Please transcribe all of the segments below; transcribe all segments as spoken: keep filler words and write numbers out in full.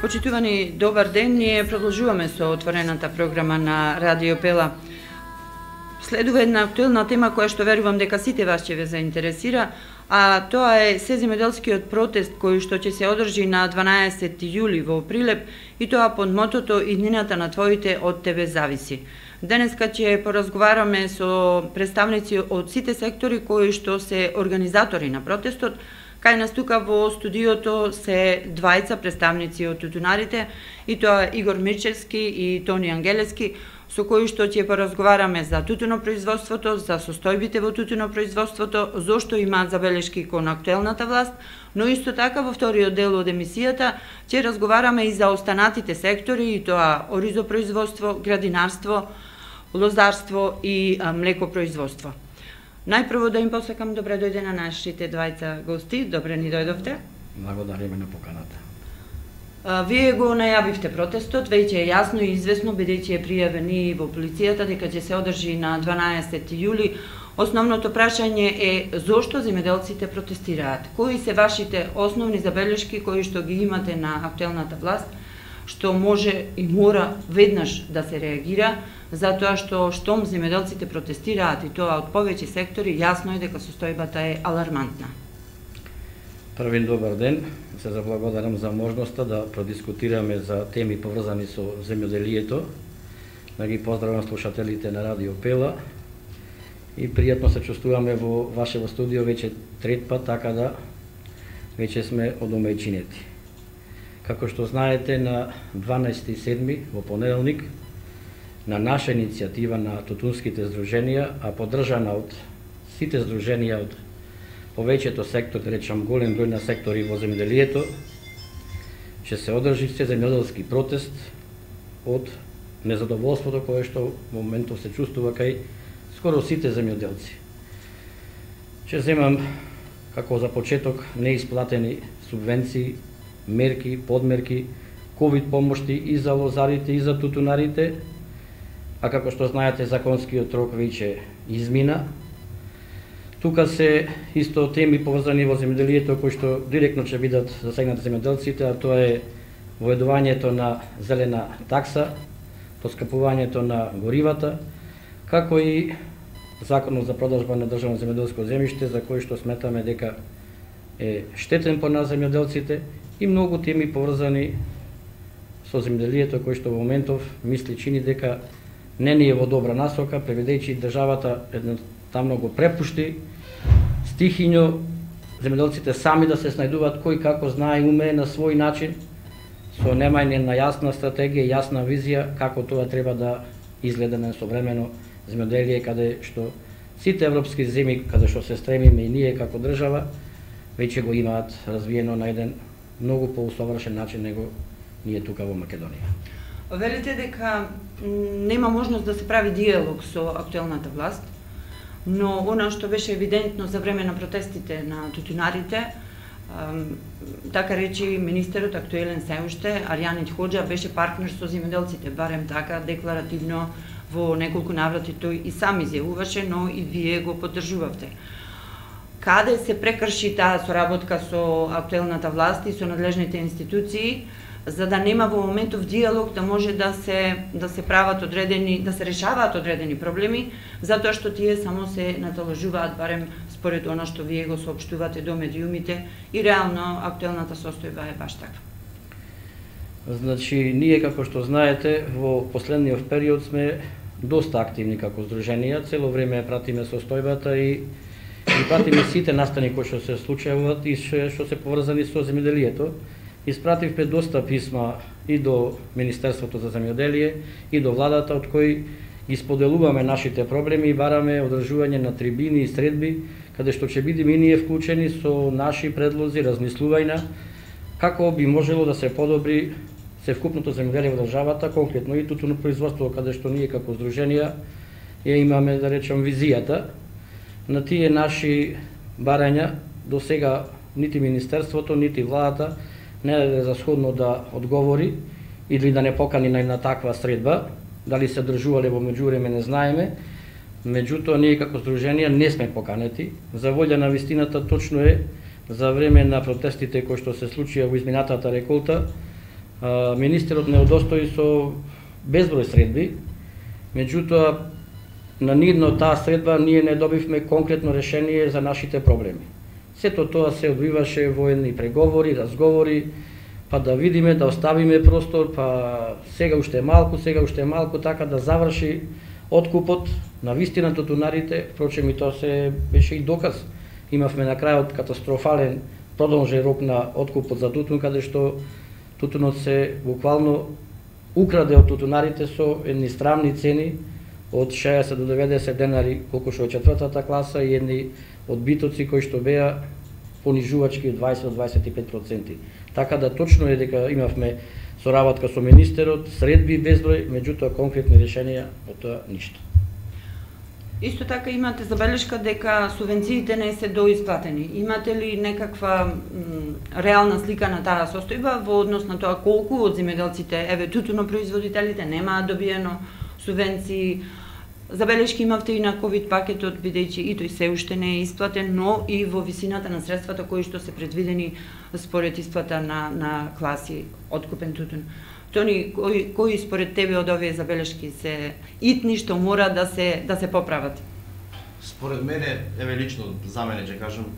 Почитувани, добар ден, ние продолжуваме со отворената програма на Радио Пела. Следува една актуелна тема која што верувам дека сите вас ќе ве заинтересира, а тоа е сеземјоделскиот протест кој што ќе се одржи на дванаесети јули во Прилеп, и тоа под мотото "Иднината на твоите од тебе зависи". Денеска ќе поразговараме со представници од сите сектори кои што се организатори на протестот. Кај нас тука во студиото се двајца представници од тутунарите, и тоа Игор Мирчевски и Тони Ангелески, со кои што ќе поразговараме за тутунопроизводството, за состојбите во тутунопроизводството, зошто имаат забелешки кон актуелната власт, но исто така во вториот дел од емисијата ќе разговараме и за останатите сектори, и тоа оризопроизводство, градинарство, лозарство и млекопроизводство. Најпрво да им посакам добре дојде на нашите двајца гости. Добре ни дојдовте. Благодариме на поканата. Вие го најавивте протестот, веќе е јасно и известно, бидејќи е пријавен и во полицијата, дека ќе се одржи на дванаесети јули. Основното прашање е зошто земјоделците протестираат? Кои се вашите основни забелешки кои што ги имате на актуелната власт, што може и мора веднаш да се реагира, затоа што штом земјоделците протестираат, и тоа од повеќе сектори, јасно е дека состојбата е алармантна. Први добар ден, се заблагодарам за можноста да продискутираме за теми поврзани со земјоделието. Да ги поздравам слушателите на Радио Пела и пријатно се чувствуваме во вашево студио веќе трет пат, така да веќе сме одомајчинети. Како што знаете, на дванаесети седми во понеделник, на наша иницијатива на тутунските здруженија, а поддржана од сите здруженија од повеќето сектори, да речам голем број на сектори во земјоделието, ќе се одржи сеземјоделски протест од незадоволството кое што во моментов се чувствува кај скоро сите земјоделци. Ќе земам како за почеток неисплатени субвенции, мерки, подмерки, ковид помошти и за лозарите и за тутунарите, а како што знаете законскиот рок веќе измина. Тука се исто теми поврзани во земјоделието кои што директно ќе бидат засегнати земјоделците, а тоа е воедувањето на зелена такса, поскапувањето на горивата, како и законот за продажба на државно земјоделско земјиште, за кој што сметаме дека е штетен по нас земјоделците, и многу теми поврзани со земјоделието кои што во моментов мисли чини дека не ни е во добра насока, преведејќи државата едноставно го препушти стихињо земјоделците сами да се снајдуваат кој како знае и умее на свој начин, со немање на јасна стратегија, јасна визија како тоа треба да изгледа на современо земјоделие, каде што сите европски земји, каде што се стремиме и ние како држава, веќе го имаат развиено на еден многу поусовршен начин него ние тука во Македонија. Велите дека нема можност да се прави диалог со актуелната власт, но она што беше евидентно за време на протестите на тутунарите, така речи министерот актуелен се уште, Арјанит Хоџа, беше партнер со земјоделците, барем така декларативно во неколку наврати тој и сам изјавуваше, но и вие го поддржувавте. Каде се прекрши таа соработка со актуелната власт и со надлежните институции, за да нема во моментов диалог, да може да се да се прават одредени, да се решаваат одредени проблеми, затоа што тие само се наталожуваат, барем според она што вие го соопштувате до медиумите, и реално актуелната состојба е баш така. Значи, ние како што знаете, во последниот период сме доста активни како здруженија, цело време пратиме состојбата и и пратиме сите настани кои што се случуваат и што се поврзани со земјоделието. Испративме доста писма и до Министерството за земјоделие и до владата, од кои ги споделуваме нашите проблеми и бараме одржување на трибини и средби, каде што ќе бидеме и ние вклучени со наши предлози, размислувања, како би можело да се подобри севкупното земјоделие во државата, конкретно и тутунопроизводство, каде што ние како здруженија ја имаме, да речем, визијата. На тие наши барања до сега нити Министерството, нити владата не е за сходно да одговори или да не покани на една таква средба. Дали се држувале во меѓувреме не знаеме, меѓутоа ние како здруженија не сме поканети. За волја на вистината, точно е за време на протестите кои што се случија во изминатата реколта, Министерот не удостои со безброј средби, меѓутоа на нидно таа средба ние не добивме конкретно решение за нашите проблеми. Сето тоа се одвиваше во едни преговори, разговори, па да видиме, да оставиме простор, па сега уште е малку, сега уште е малку, така да заврши откупот на вистина тутунарите. Впрочем, и тоа се беше и доказ. Имавме на крајот катастрофален продолжен рок на откупот за тутун, каде што тутунот се буквално украде од тутунарите со едни страмни цени од шеесет до деветдесет денари, колку што е четвртата класа, и едни одбитоци кои што беа понижувачки од дваесет до дваесет и пет проценти. Така да точно е дека имавме соработка со министерот, средби безброј, меѓутоа конкретни решенија од тоа ништо. Исто така имате забелешка дека субвенциите не се доисплатени. Имате ли некаква реална слика на таа состојба во однос на тоа колку од земјоделците, еве тутунопроизводителите, немаат добиено субвенции? Забелешки имавте и на ковид пакетот, бидејќи и тој се уште не е исплатен, но и во висината на средствата кои што се предвидени според исплата на, на класи откупен тутун. Тони, кои, кои според тебе од овие забелешки се итни што мора да се да се поправат? Според мене, еве лично за мене ќе кажам,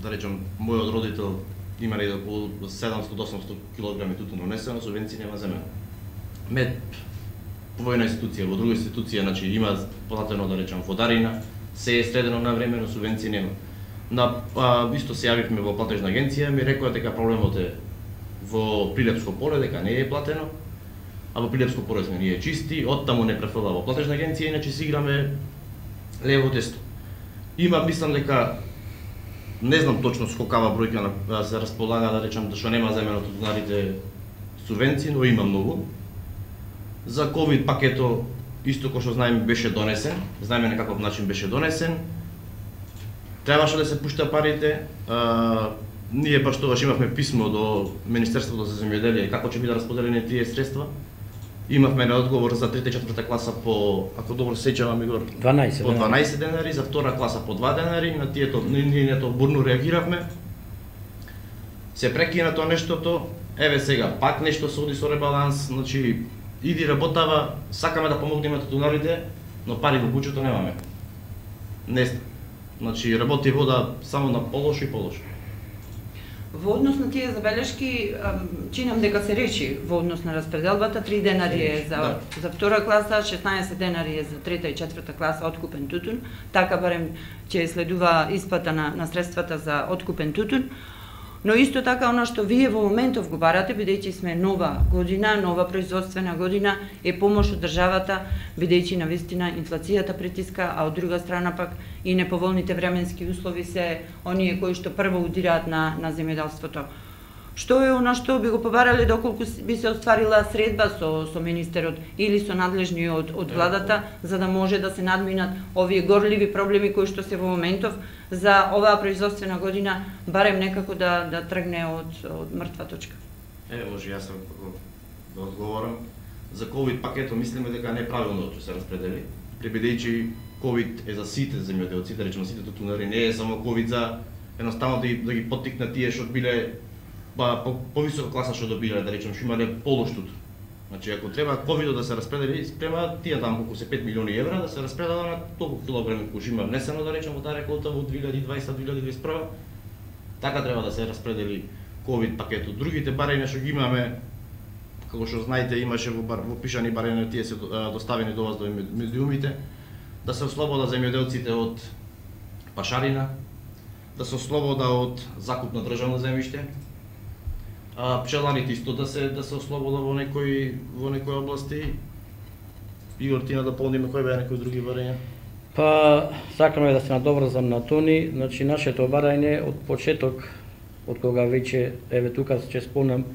да речем, мојот родител има негде околу седумстотини до осумстотини килограми тутун донесено, субвенции нема земено. Мед во една институција, во друга институција, значи има платено, да речем, водарина, се е средено на време, но субвенции нема. На а, исто се јавивме во платежна агенција, ми рекоа дека проблемот е во Прилепско поле, дека не е платено, а во Прилепско поле сме ние чисти, оттаму не префрла во платежна агенција, иначе си играме лево десто. Има, мислам дека не знам точно со колкава бројка на се располага, да речам, да што нема земено тутунарите субвенции, но има многу. За ковид пакето исто кој што знаеме беше донесен, знаеме на каков начин беше донесен. Требаше да се пушта парите. А, ние баш тогаш имавме писмо до Министерството за земјоделие како ќе бидат расподелени тие средства. Имавме на одговор за трета и четврта класа по, ако добро се сеќавам, Игор, дванаесет по дванаесет денари, за втора класа по два денари, на тието ние тоа бурно реагиравме. Се прекина тоа нештото, еве сега пак нешто се оди со ребаланс, значи иди работава, сакаме да помогнеме тутунарите, но пари во буџетот немаме. Не, значи работи вода само на полошо и полошо. Во однос на тие забелешки, чинам дека се речи во однос на распределбата, три денари е за, да. за втора класа, шеснаесет денари е за трета и четврта класа откупен тутун, така барем ќе следува исплата на, на средствата за откупен тутун. Но исто така она што вие во моментов го барате, бидејќи сме нова година, нова производствена година, е помош од државата, бидејќи навистина инфлацијата притиска, а од друга страна пак и неповолните временски услови се оние кои што прво удираат на, на земјоделството. Што е она што би го побарале доколку би се остварила средба со, со министерот или со надлежни од, од владата, за да може да се надминат овие горливи проблеми кои што се во моментов за оваа производствена година, барем некако да, да тргне од, од мртва точка? Е, може јас да одговорам. За ковид пакетот мислиме дека не е правилно да се распредели, бидејќи ковид е за сите земјоделци, да речеме сите тутунари, не е само ковид за едноставно да ги, да ги поттикнат тие што биле па по повисока класа што добиле, да речем, што имале полоштут. Значи ако треба ковидот да се распредели, спрема тие таму колку се пет милиони евра да се распредела на толку килограми кои има внесено, да речем, во таа реколта во две илјади и дваесета до две илјади и дваесет и прва. Така треба да се распредели ковид пакетот. Другите барања што ги имаме, како што знаете, имаше во, бар, во пишани барања тие се доставени до вас до медиумите, да се ослободат земјоделците од пашарина, да се ослобода од закуп на државно земјиште, а пчеланите исто да се да се ослобода во некои во некои области. Игор, ти на да помниме кои беа некои други барања? Па сакаме да се надоврзам на тони, значи нашето барање од почеток, од кога веќе еве тука ќе спомнам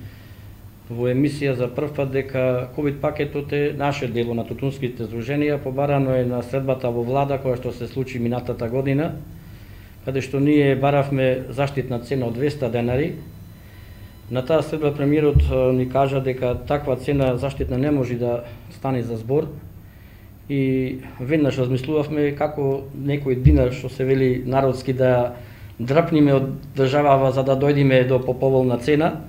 во емисија за прв пат дека ковид пакетот е наше дело на тутунските здруженија, побарано е на средбата во влада која што се случи минатата година, каде што ние баравме заштитна цена од двеста денари. На таа средба премиерот ни кажа дека таква цена заштитна не може да стане за збор и веднаш размислувавме како некој динар што се вели народски да драпниме од државава за да дојдеме до поповолна цена.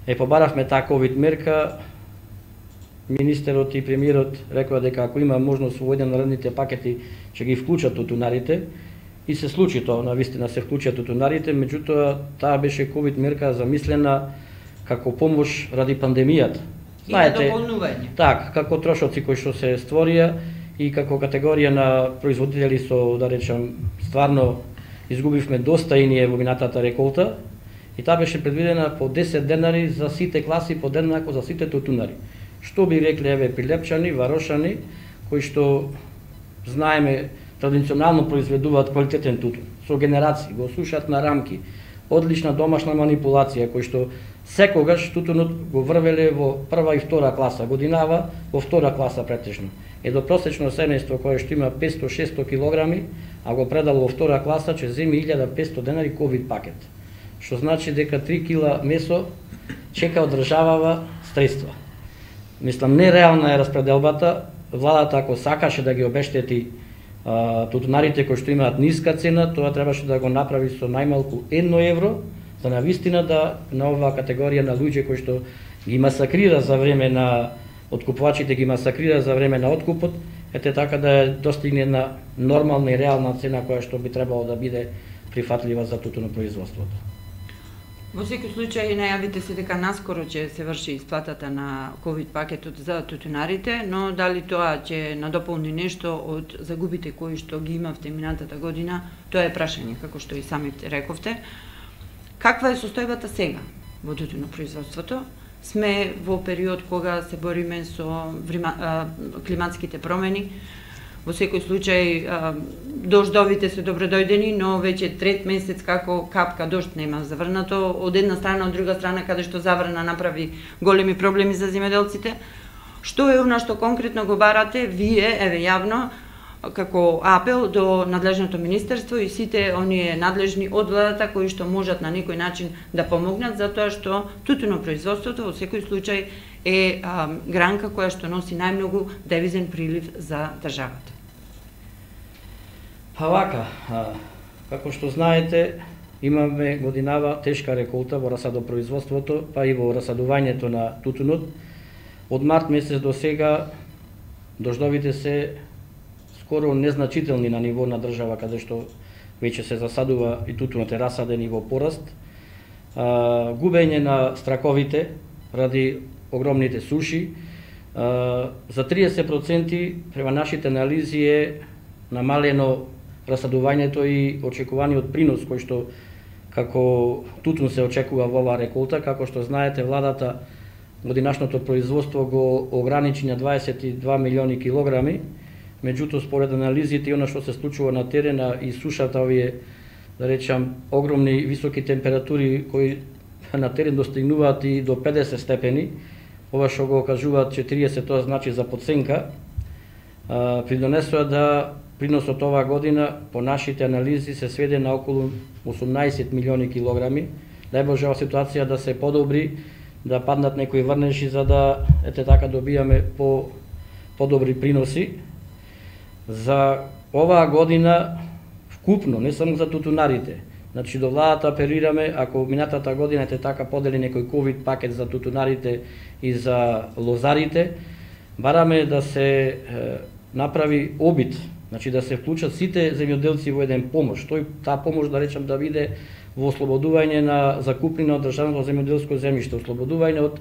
Е побаравме таа ковид мерка, министерот и премиерот рекоа дека ако има можност во еден наредните пакети ќе ги вклучат тутунарите и се случи тоа, навистина се вклучат тутунарите, меѓутоа таа беше ковид мерка замислена како помош ради пандемијата. Знаете, и на дополнување. Так, како трошоци кои што се створија и како категорија на производители со, да речам, стварно изгубивме доста и ние во минатата реколта, и таа беше предвидена по десет денари за сите класи, по еднакво за сите тутунари. Што би рекле еве Прилепчани, Варошани, кои што знаеме традиционално произведуваат квалитетен тутун, со генерации, го сушат на рамки, одлична домашна манипулација, кои што секогаш тутунот го врвеле во прва и втора класа годинава, во втора класа претежно. Е до просечно семејство кое што има петсто до шестсто килограми, а го предал во втора класа, ќе земи илјада и петсто денари ковид пакет. Што значи дека три кила месо чека од државава средства. Мислам, нереална е распределбата. Владата, ако сакаше да ги обештети а, тутунарите кои што имаат ниска цена, тоа требаше да го направи со најмалку едно евро, за навистина да на оваа категорија на луѓе кои што ги масакрира за време на откупувачите, ги масакрира за време на откупот, ете така да достигне една нормална и реална цена која што би требало да биде прифатлива за тутунопроизводството. Во секој случај најавите се дека наскоро ќе се врши исплатата на ковид пакетот за тутунарите, но дали тоа ќе надополни нешто од загубите кои што ги имавте минатата година, тоа е прашање, како што и самите рековте. Каква е состојбата сега во тутунопроизводството? Сме во период кога се бориме со врима, а, климатските промени. Во секој случај а, дождовите се добродојдени, но веќе трет месец како капка дожд нема заврнато. Од една страна, од друга страна, каде што заврна направи големи проблеми за земјоделците. Што е она што конкретно го барате вие, еве јавно, како апел до надлежното министерство и сите оние надлежни од владата кои што можат на некој начин да помогнат, затоа што тутунопроизводството во секој случај е а, гранка која што носи најмногу девизен прилив за државата. Па вака, а, како што знаете, имаме годинава тешка реколта во расадопроизводството, па и во расадувањето на тутунот. Од март месец до сега дождовите се скоро незначителни на ниво на држава, каде што веќе се засадува и тутунот е расаден и во пораст. А, губење на страковите ради огромните суши. А, за триесет проценти према нашите анализи е намалено расадувањето и очекуваниот принос кој што како тутун се очекува во оваа реколта. Како што знаете, владата годинашното производство го ограничи на дваесет и два милиони килограми. Меѓутоа, според анализите и она што се случува на терена и сушата, овие, да речам, огромни високи температури кои на терен достигнуваат и до педесет степени, ова што го кажуваат четириесет, тоа значи за подценка, придонесува да приносот оваа година по нашите анализи се сведе на околу осумнаесет милиони килограми. Дај Боже оваа ситуација да се подобри, да паднат некои врнежи за да ете така добијаме по подобри приноси. За оваа година вкупно, не само за тутунарите, значи до владата апелираме, ако минатата година ете така подели некој ковид пакет за тутунарите и за лозарите, бараме да се е, направи обид, значи да се вклучат сите земјоделци во еден помош. Тој таа помош, да речам, да биде во ослободување на закупнина од државното земјоделско земјиште, ослободување од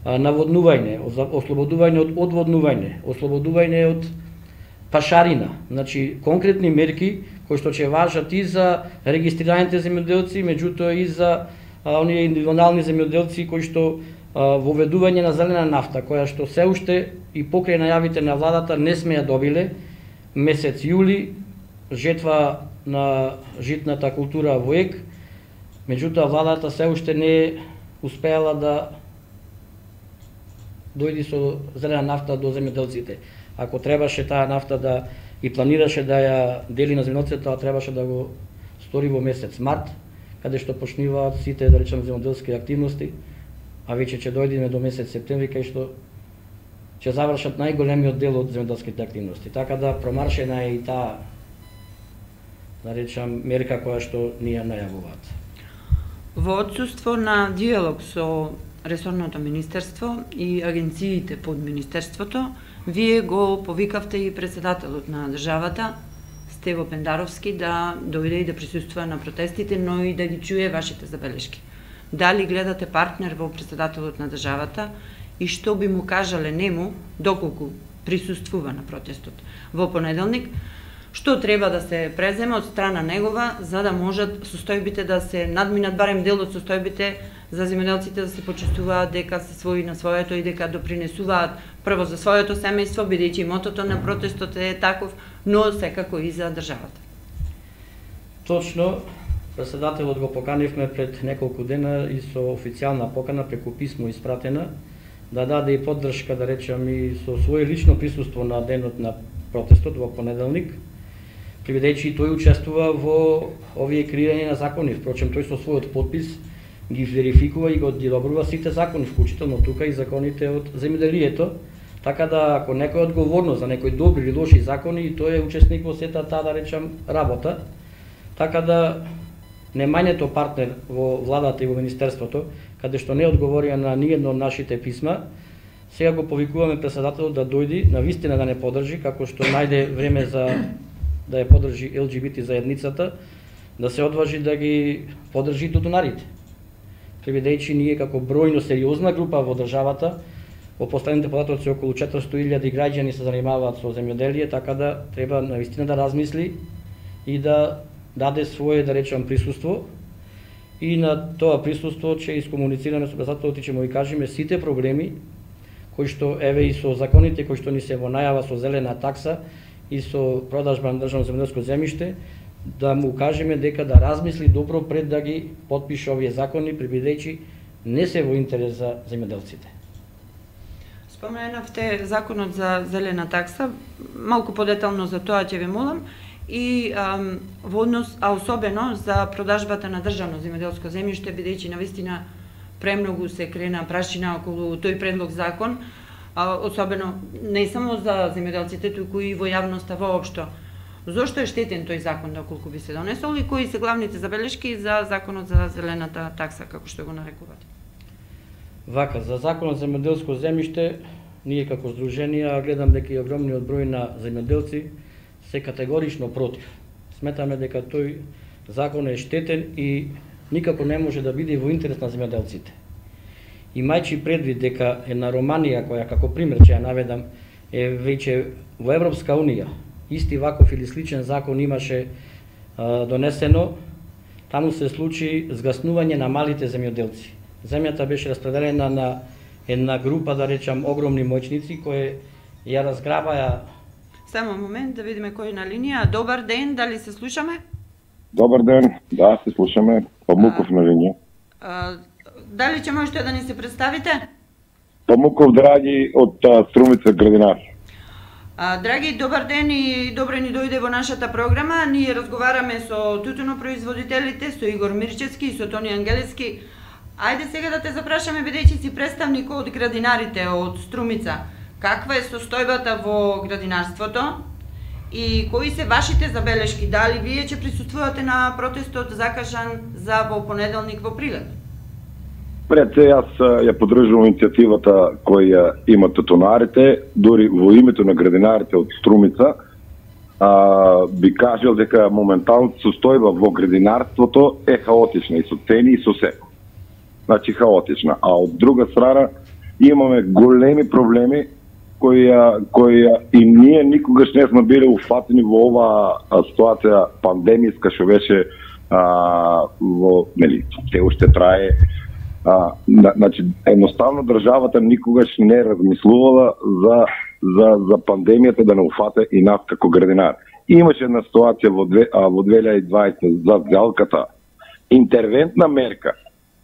а, наводнување, ослободување од одводнување, ослободување од пашарина, значи конкретни мерки кои што ќе важат и за регистрираните земјоделци, меѓутоа и за а, оние индивидуални земјоделци кои што а, воведување на зелена нафта, која што се уште и покрај најавите на владата не сме ја добиле. Месец јули жетва на житната култура во ек, меѓутоа владата се уште не успеала да дојде со зелена нафта до земјоделците. Ако требаше таа нафта да и планираше да ја дели на земјоделците, тоа требаше да го стори во месец март, каде што почнуваат сите, да речем, земјоделски активности, а веќе ќе дојдеме до месец септември, кај што ќе завршат најголемиот дел од земјоделските активности. Така да промаршена е и таа, да речам, мерка која што ние најавуваат. Во отсуство на диалог со ресорното министерство и агенциите под министерството, вие го повикавте и председателот на државата, Стево Пендаровски, да дојде и да присуствува на протестите, но и да ги чуе вашите забелешки. Дали гледате партнер во председателот на државата и што би му кажале нему, доколку присуствува на протестот во понеделник, што треба да се преземе од страна негова, за да можат состојбите да се надминат, барем дел од состојбите за земјоделците да се почувствуваат дека се своји на своето и дека допринесуваат прво за своето семејство, бидејќи мотото на протестот е таков, но секако и за државата. Точно, председателот го поканивме пред неколку дена и со официјална покана преку писмо испратена да даде и поддршка, да речем, и со своје лично присуство на денот на протестот во понеделник, бидејќи тој учествува во овие креирање на закони. Впрочем, тој со својот подпис ги верификува и го одобрува сите закони, вклучително тука и законите од земјоделието. Така да, ако некој е одговорно за некои добри или лоши закони, тој е учесник во сета таа, да речем, работа. Така да, немањето партнер во владата и во министерството, каде што не одговорија на ниедно од нашите писма, сега го повикуваме председателот да дојди, навистина да не подржи, како што најде време за да ја подржи Ел Џи Би Ти заедницата, да се одважи да ги подржи тутунарите. Бидејќи ние како бројно сериозна група во државата, во последните податоци околу четиристотини илјади граѓани се занимаваат со земјоделие, така да треба навистина да размисли и да даде своје, да речем, присуство. И на тоа присуство ќе искомуницираме со председателот и ќе му ги кажеме сите проблеми кои што еве и со законите кои што ни се во најава со зелена такса и со продажба на државно земјоделско земјиште, да му кажеме дека да размисли добро пред да ги потпише овие закони, бидејќи не се во интерес за земјоделците. Споменавте законот за зелена такса, малку подетално за тоа ќе ве молам, и ам, во однос, а особено за продажбата на државно земјоделско земјиште, бидејќи навистина премногу се крена прашина околу тој предлог закон, а, особено не само за земјоделците, туку и во јавноста воопшто. Зошто е штетен тој закон доколку би се донесол и кои се главните забелешки за законот за зелената такса, како што го нарекувате? Вака, за законот за земјоделско земјиште, ние како здруженија гледам дека и огромниот број на земјоделци се категорично против. Сметаме дека тој закон е штетен и никако не може да биде во интерес на земјоделците. Имајќи предвид дека една Романија, која како пример ќе ја наведам, е веќе во Европска унија, исти ваков или сличен закон имаше а, донесено, таму се случи згаснување на малите земјоделци. Земјата беше распределена на една група, да речам, огромни моќници кои ја разграбаја. Само момент да видиме кој е на линија. Добар ден, дали се слушаме? Добар ден, да, се слушаме. Памуков на линија. А, дали ќе можете да ни се представите? Памуков Драги од Струмица, Градинар. А, драги, добар ден и добре ни дојде во нашата програма. Ние разговараме со тутунопроизводителите, со Игор Мирчевски и со Тони Ангелевски. Ајде сега да те запрашаме, бидејќи си представник од градинарите од Струмица. Каква е состојбата во градинарството и кои се вашите забелешки? Дали вие ќе присуствувате на протестот закажан за во понеделник во Прилеп? Пред се, јас ја поддржувам иницијативата која имат тутунарите, дури во името на градинарите од Струмица. А, би кажал дека моменталната состојба во градинарството е хаотична и со цени и со се. Значи хаотична. А од друга страна имаме големи проблеми кои, кои и ние никогаш не сме били уфатени во оваа ситуација пандемиска што беше а, во, нели, те уште трае. А, значи, едноставно државата никогаш не размислувала за, за, за пандемијата да не уфате и нас како градинар. Имаше една ситуација во, во две илјади и дваесета за зелката, интервентна мерка,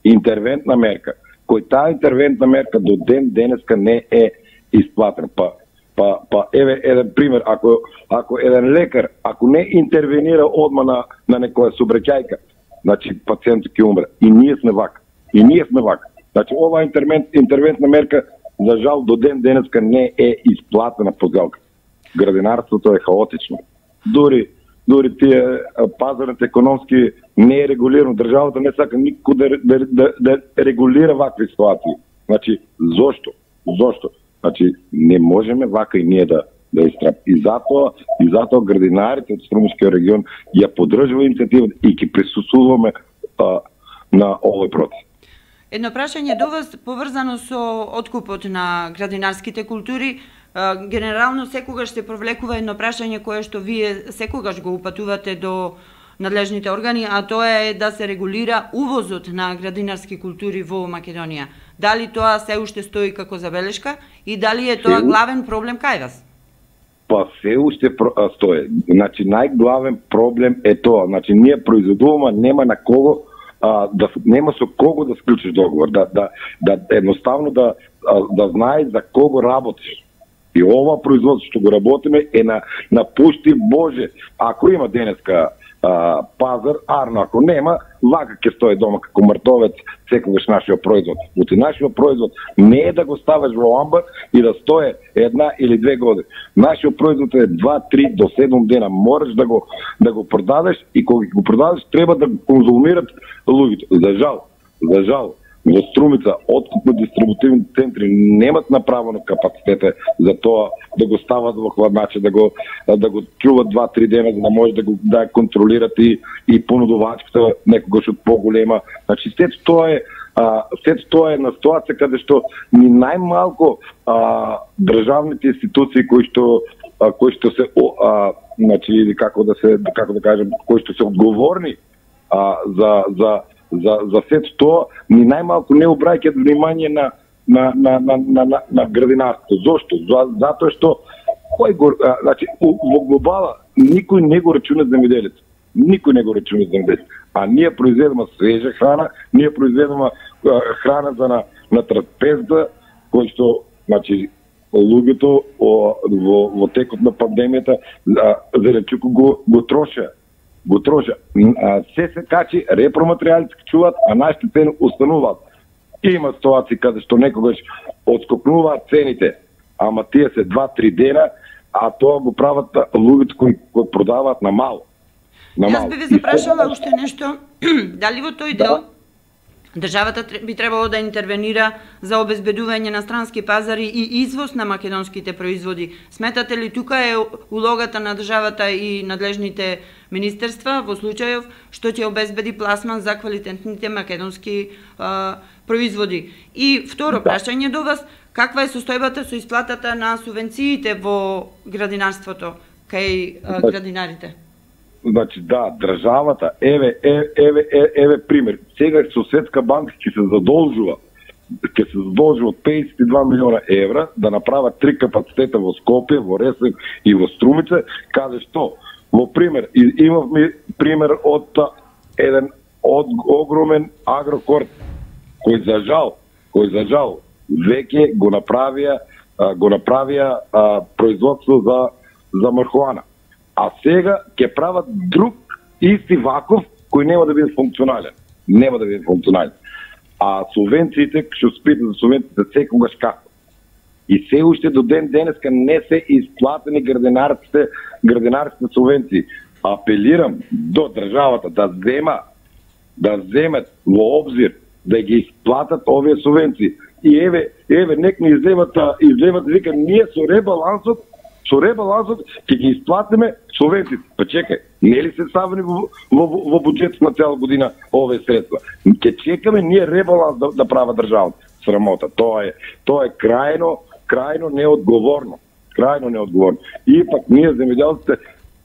интервентна мерка, кој таа интервентна мерка до ден денеска не е исплатена. Па, па, па еве еден пример, ако ако еден лекар, ако не интервенира одма на на некоја сообраќајка, значи пациентот ќе умре. И ние сме вака. И ние сме вака. Значи оваа интервент, интервентна мерка за жал до ден денеска не е исплатена по зелка. Градинарството е хаотично. Дури дури тие пазарот економски не е регулирано. Државата не сака никој да, да, да, да регулира вакви ситуации. Значи, зошто? Зошто? Значи, не можеме вака и ние да да истрап. И затоа, и затоа градинарите од Струмскиот регион ја поддржува иницијативата и ќе присуствуваме а, на овој процес. Едно прашање до вас поврзано со откупот на градинарските култури. Генерално секогаш се провлекува едно прашање кое што вие секогаш го упатувате до надлежните органи, а тоа е да се регулира увозот на градинарски култури во Македонија. Дали тоа се уште стои како забелешка и дали е тоа главен проблем кај вас? Па се уште стои. Значи, најглавен проблем е тоа. Значи, ние произведуваме, нема на кого, а, да, нема со кого да склучиш договор, да, да, да едноставно да, да знаеш за кого работиш. И ова производство што го работиме е на, на пушти Боже. Ако има денеска а, пазар, арно, ако нема, вака ќе стои дома како мртовец секогаш нашиот производ. Оти нашиот производ не е да го ставаш во амбар и да стое една или две години. Нашиот производ е два, три до седум дена. Мораш да го да го продадеш и кога го продадеш треба да го конзумират луѓето. За жал, за жал, во Струмица откупно дистрибутивни центри немат направено капацитета за тоа да го стават во хладначе, да го да го чуват два-три дена за да може да го да контролират и и понудувачката некогаш од поголема. Значи сето тоа е а, сето тоа е на ситуација каде што ни најмалку а, државните институции кои што а, кои што се а, значи како да се како да кажем кои што се одговорни а, за за за за сето тоа ни најмалку не обраќаат внимание на на на на на, на, на градинарството. Зошто? За, затоа што кој го а, значи во глобала никој не го рачуна земјоделец. Никој не го рачуна земјоделец. А ние произведуваме свежа храна, ние произведуваме храна за на на трапеза, кој што значи луѓето во, во во текот на пандемијата зеленчуко го го троша. го троша. Се се качи, репроматеријалите чуваат, а нашите цени остануваат. Има ситуации каде што некогаш отскокнуваат цените, ама тие се два-три дена, а тоа го прават луѓето кои, кои продаваат на мало. На Јас мало. би ви запрашала уште нешто, дали во тој дел државата би требало да интервенира за обезбедување на странски пазари и извоз на македонските производи. Сметате ли тука е улогата на државата и надлежните министерства во случајов што ќе обезбеди пласман за квалитетните македонски а, производи? И второ прашање до вас, каква е состојбата со исплатата на субвенциите во градинарството кај а, градинарите? Значи да, државата, еве, еве, еве, еве, еве пример. Сега со Светска банка ќе се задолжува, ќе се задолжува од педесет и два милиона евра да направат три капацитета во Скопје, во Ресен и во Струмица, каде што во пример имавме пример од еден од огромен агрокорт кој за жал, кој за жал веќе го направија го направија а, производство за за мархуана. А сега ќе прават друг исти ваков кој нема да биде функционален. Нема да биде функционален. А субвенциите, што спите за субвенциите, секогаш каснат. И се уште до ден денеска не се исплатени градинарските градинарските субвенции. Апелирам до државата да зема да земат во обзир да ги исплатат овие субвенции. И еве, еве нек ни излеват, излеват вика ние со ребалансот со ребалансот ќе ги исплатиме субвенциите. Па чекај, не ли се ставени во, во, во буџетот на цела година овие средства? Ќе чекаме ние ребаланс да, да права државата. Срамота. Тоа е, тоа е крајно, крајно неодговорно. Крајно неодговорно. И пак ние земјоделците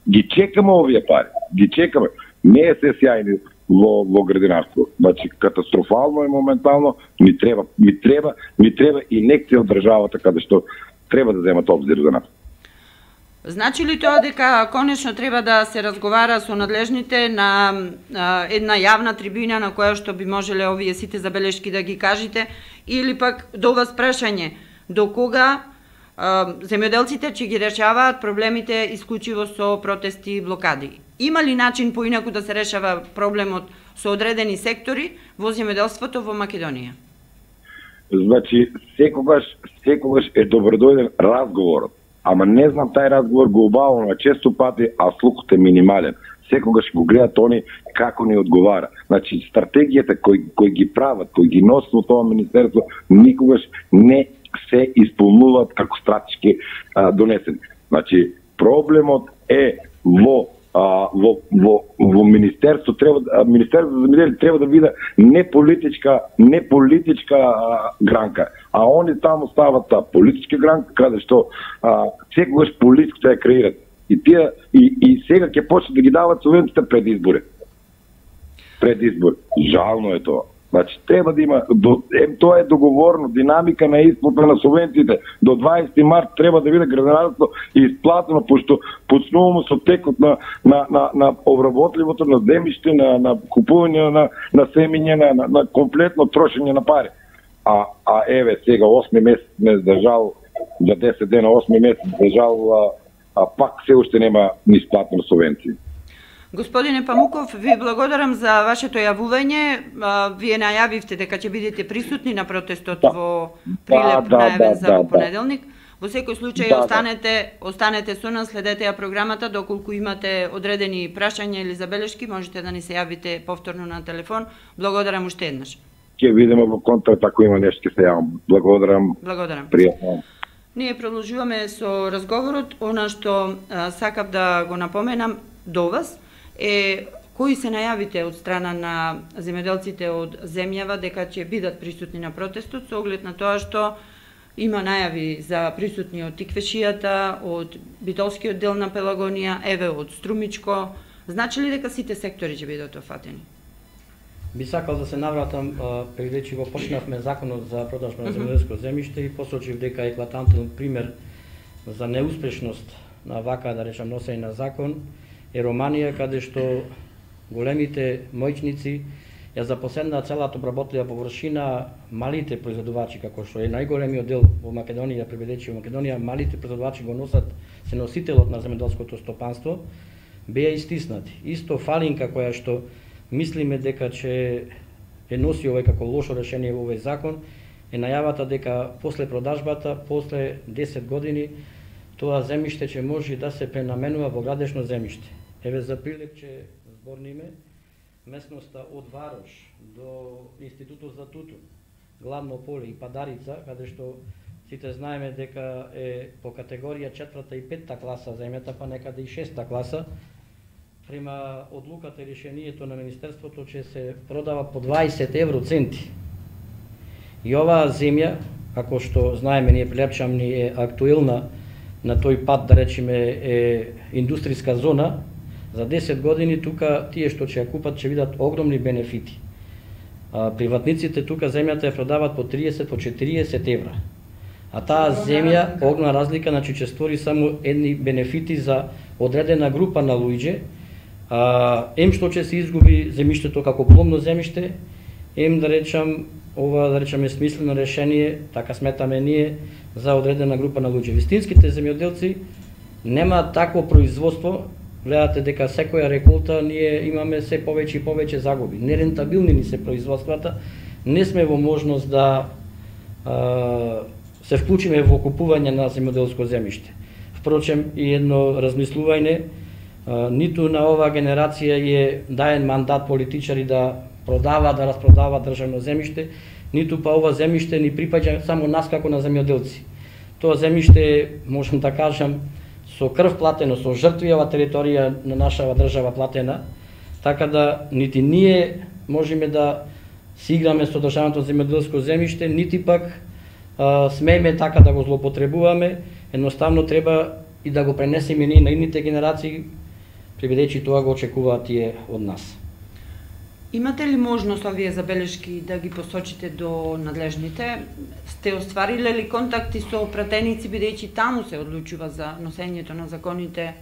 ги чекаме овие пари. Ги чекаме. Не е се сјајни во, во градинарство. Значи катастрофално е моментално, ни треба, ни треба, ни треба инекција од државата каде што треба да земат обзир за нас. Значи ли тоа дека конечно треба да се разговара со надлежните на а, една јавна трибина на која што би можеле овие сите забелешки да ги кажете, или пак до вас прашање, до кога а, земјоделците ќе ги решаваат проблемите исклучиво со протести и блокади? Има ли начин поинаку да се решава проблемот со одредени сектори во земјоделството во Македонија? Значи, секогаш, секогаш е добродојден разговорот. Ама не знам тај разговор глобално на често пати, а слухот е минимален. секогаш го гледат они како ни одговара. Значи, стратегијата кои, кои ги прават, кои ги носат во тоа министерство, никогаш не се исполнуваат како стратешки а, донесени. Значи, проблемот е во а, во, во, во министерство треба министерство за земјоделие треба да биде не политичка не политичка а, гранка, а они таму стават та политичка гранка каде што а, секогаш политиката ја креират. И тие и, и сега ќе почнат да ги дават субвенциите пред избори. Пред избори. Жално е тоа. Значи, треба да има, до, е, тоа е договорно, динамика на исплата на субвенциите. До дваесети март треба да биде градинарство исплатено, пошто почнуваме со текот на, на, на, на обработливото на земјиште, на, на купување на, на семење, на, на, на комплетно трошење на пари. А, а еве, сега осми месец не здржал, за десет дена, осми месец здржал, а, а пак се уште нема ни исплатено субвенции. Господине Памуков, ви благодарам за вашето јавување. Вие најавивте дека ќе бидете присутни на протестот да. во Прилеп да, најавен да, за да, во понеделник. Во секој случај да, останете останете со нас, следете ја програмата, доколку имате одредени прашања или забелешки, можете да ни се јавите повторно на телефон. Благодарам уште еднаш. Ќе видиме во контакт ако има нешто ќе се јавам. Благодарам. Благодарам. Пријатно. Ние продолжуваме со разговорот. Она што а, сакав да го напоменам до вас е кои се најавите од страна на земјоделците од земјава дека ќе бидат присутни на протестот, со оглед на тоа што има најави за присутни од Тиквешијата, од Битолскиот дел на Пелагонија, еве од Струмичко. Значи ли дека сите сектори ќе бидат офатени? Би сакал да се навратам, преди че го почнавме законот за продажба на земјоделско земјиште и посочив дека е еклатантен пример за неуспешност на вака, да речам, носење на закон е Романија, каде што големите мојчници ја запоседнаа целата обработлива површина, малите производувачи, како што е најголемиот дел во Македонија, прибедечи во Македонија, малите производувачи го носат, се носителот на земјоделското стопанство, беа истиснати. Исто фалинка која што мислиме дека ќе е носи овој како лошо решение во овој закон, е најавата дека после продажбата, после десет години, тоа земјиште ќе може да се пренаменува во градешно земјиште. Еве за Прилеп ќе зборниме местноста од Варош до Институтот за тутун, Гладно поле и Падарица, каде што сите знаеме дека е по категорија четврта и петта класа земјата, па некаде и шеста класа. Према одлуката и решението на Министерството ќе се продава по дваесет евро центи. И оваа земја, како што знаеме ние Прилепчани, е актуелна на тој пат, да речеме, е индустријска зона, за десет години тука тие што ќе ја купат ќе видат огромни бенефити. А, приватниците тука земјата ја продават по триесет, по четириесет евра. А таа земја, огромна разлика, значи ќе створи само едни бенефити за одредена група на луѓе. А, ем што ќе се изгуби земјиштето како пломно земјиште, ем да речам, ова да речеме смислено решение, така сметаме ние, за одредена група на луѓе. Вистинските земјоделци нема такво производство. Гледате дека секоја реколта ние имаме се повеќе и повеќе загуби. Нерентабилни ни се производствата, не сме во можност да а, се вклучиме во купување на земјоделско земјиште. Впрочем, и едно размислување, а, ниту на оваа генерација е даен мандат политичари да продава, да распродава државно земјиште, ниту па ова земјиште ни припаѓа само нас како на земјоделци. Тоа земјиште, можам да кажам, со крв платено, со жртви ова територија на нашава држава платена, така да нити ние можеме да си играме со државното земјоделско земјиште, нити пак а, смееме така да го злоупотребуваме, едноставно треба и да го пренесеме ние на идните генерации, прибедејќи тоа го очекуваат тие од нас. Имате ли можност овие забелешки да ги посочите до надлежните? Сте оствариле ли контакти со пратеници, бидејќи таму се одлучува за носењето на законите?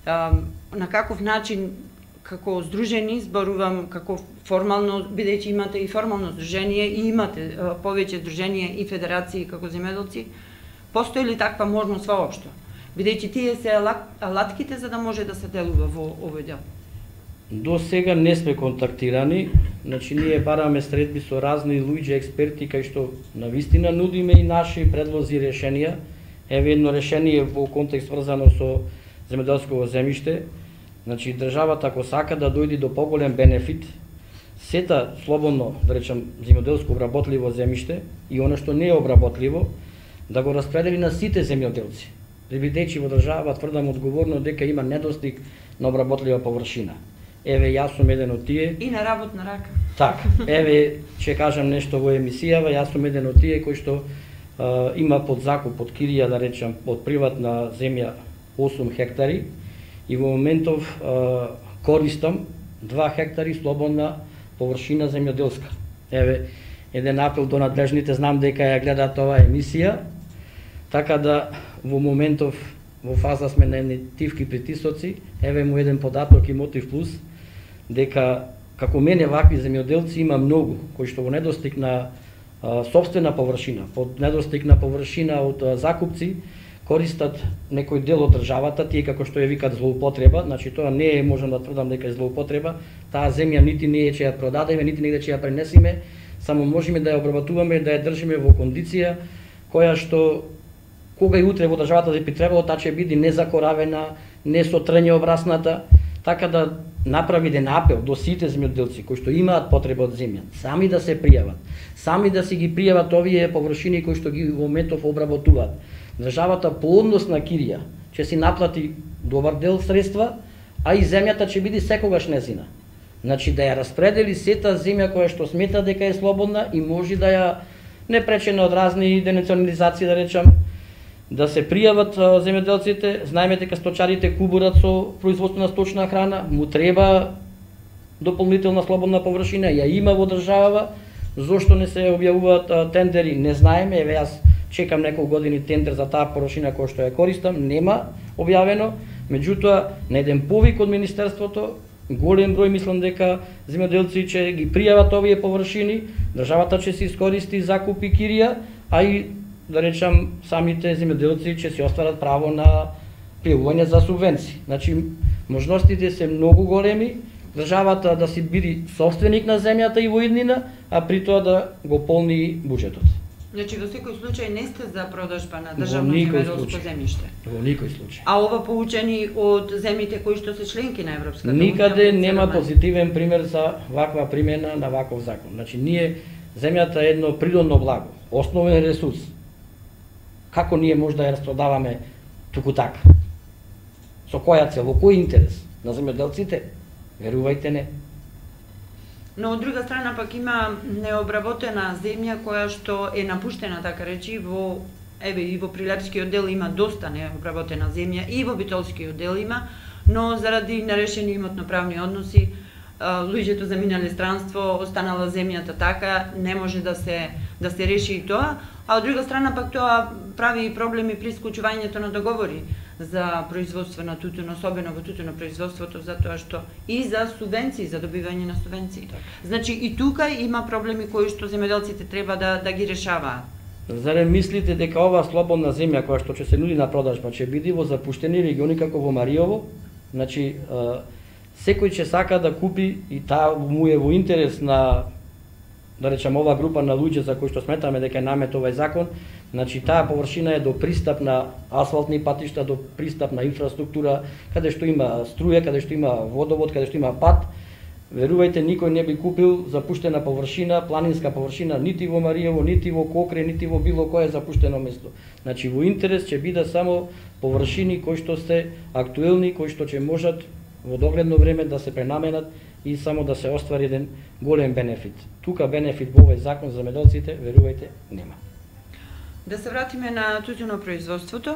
На каков начин, како здружени, зборувам како формално, бидејќи имате и формално здружение и имате повеќе здруженија и федерации како земјоделци, постои ли таква можност воопшто? Бидејќи тие се алатките за да може да се делува во овој дел. До сега не сме контактирани, значи ние бараме средби со разни луѓе, експерти, кај што навистина нудиме и наши предлози и решенија. Еве едно решение во контекст врзано со земјоделското земјиште. Значи државата ако сака да дојде до поголем бенефит, сета слободно, да речем, земјоделско обработливо земјиште и она што не е обработливо, да го распредели на сите земјоделци. Бидејќи во држава тврдам одговорно дека има недостиг на обработлива површина. Еве јас сум еден од тие. И на работна рака. Така, еве ќе кажам нешто во емисијава, јас сум еден од тие кои што а, има под закуп, под кирија, да речем, од приватна земја осум хектари и во моментов а, користам два хектари слободна површина земјоделска. Еве, еден апел до надлежните, знам дека ја гледаат оваа емисија, така да во моментов во фаза сме на едни тивки притисоци, еве му еден податок и Мотив Плюс, дека како мене вакви земјоделци има многу, кои што во недостиг на а, собствена површина, под недостиг на површина од а, закупци, користат некој дел од државата, тие како што ја викат злоупотреба, значи тоа не е, можам да тврдам дека е злоупотреба, таа земја нити не е ќе ја продадеме, нити негде ќе ја пренесиме, само можеме да ја обработуваме, да ја држиме во кондиција која што кога и утре во државата да би требало, таа ќе биде незакоравена, не со трње обрасната, така да направи еден апел до сите земјоделци кои што имаат потреба од земја, сами да се пријават, сами да си ги пријават овие површини кои што ги во моментов обработуваат. Државата по однос на кирија ќе си наплати добар дел средства, а и земјата ќе биде секогаш незина. Значи да ја распредели сета земја која што смета дека е слободна и може да ја не пречена од разни денационализации, да речам, да се пријават земјоделците. Знаеме дека сточарите кубурат со производство на сточна храна, му треба дополнителна слободна површина, ја има во држава, зошто не се објавуваат тендери, не знаеме. Еве јас чекам неколку години тендер за таа површина која што ја користам, нема објавено, меѓутоа на еден повик од министерството, голем број мислам дека земјоделци ќе ги пријават овие површини, државата ќе се искористи закупи кирија, а и да речам самите земјоделци ќе се остварат право на пријавување за субвенции. Значи можностите се многу големи, државата да си биде собственик на земјата и во иднина, а при тоа да го полни буџетот. Значи во секој случај не сте за продажба на државно земјоделско земјиште. Во никој случај. А ова поучени од земјите кои што се членки на Европската унија? Никаде нема позитивен пример за ваква примена на ваков закон. Значи ние земјата е едно природно благо, основен ресурс. Како ние може да ја распродаваме туку така? Со која цел, во кој интерес? На земјоделците? Верувајте не. Но од друга страна пак има необработена земја која што е напуштена, така речи, во еве и во Прилепскиот дел има доста необработена земја, и во Битолскиот дел има, но заради нарешени имотно-правни односи, луѓето заминале странство, останала земјата така, не може да се да се реши и тоа, а од друга страна пак тоа прави и проблеми при склучувањето на договори за производство на тутун, особено во тутунопроизводството, затоа што и за субвенции, за добивање на субвенции. Так. Значи и тука има проблеми кои што земјоделците треба да да ги решаваат. Зарем мислите дека ова слободна земја која што ќе се нуди на продажба ќе биде во запуштени региони како во Мариово? Значи секој ќе сака да купи и таа му е во интерес на, да речем, ова група на луѓе за кои што сметаме дека е намет овај закон. Значи таа површина е до пристап на асфалтни патишта, до пристап на инфраструктура, каде што има струја, каде што има водовод, каде што има пат. Верувајте, никој не би купил запуштена површина, планинска површина, нити во Мариево, нити во Кокре, нити во било кое запуштено место. Значи во интерес ќе биде само површини кои што се актуелни, кои што ќе можат во догледно време да се пренаменат и само да се оствари еден голем бенефит. Тука бенефит во овој закон за земјоделците, верувајте, нема. Да се вратиме на тутунопроизводството.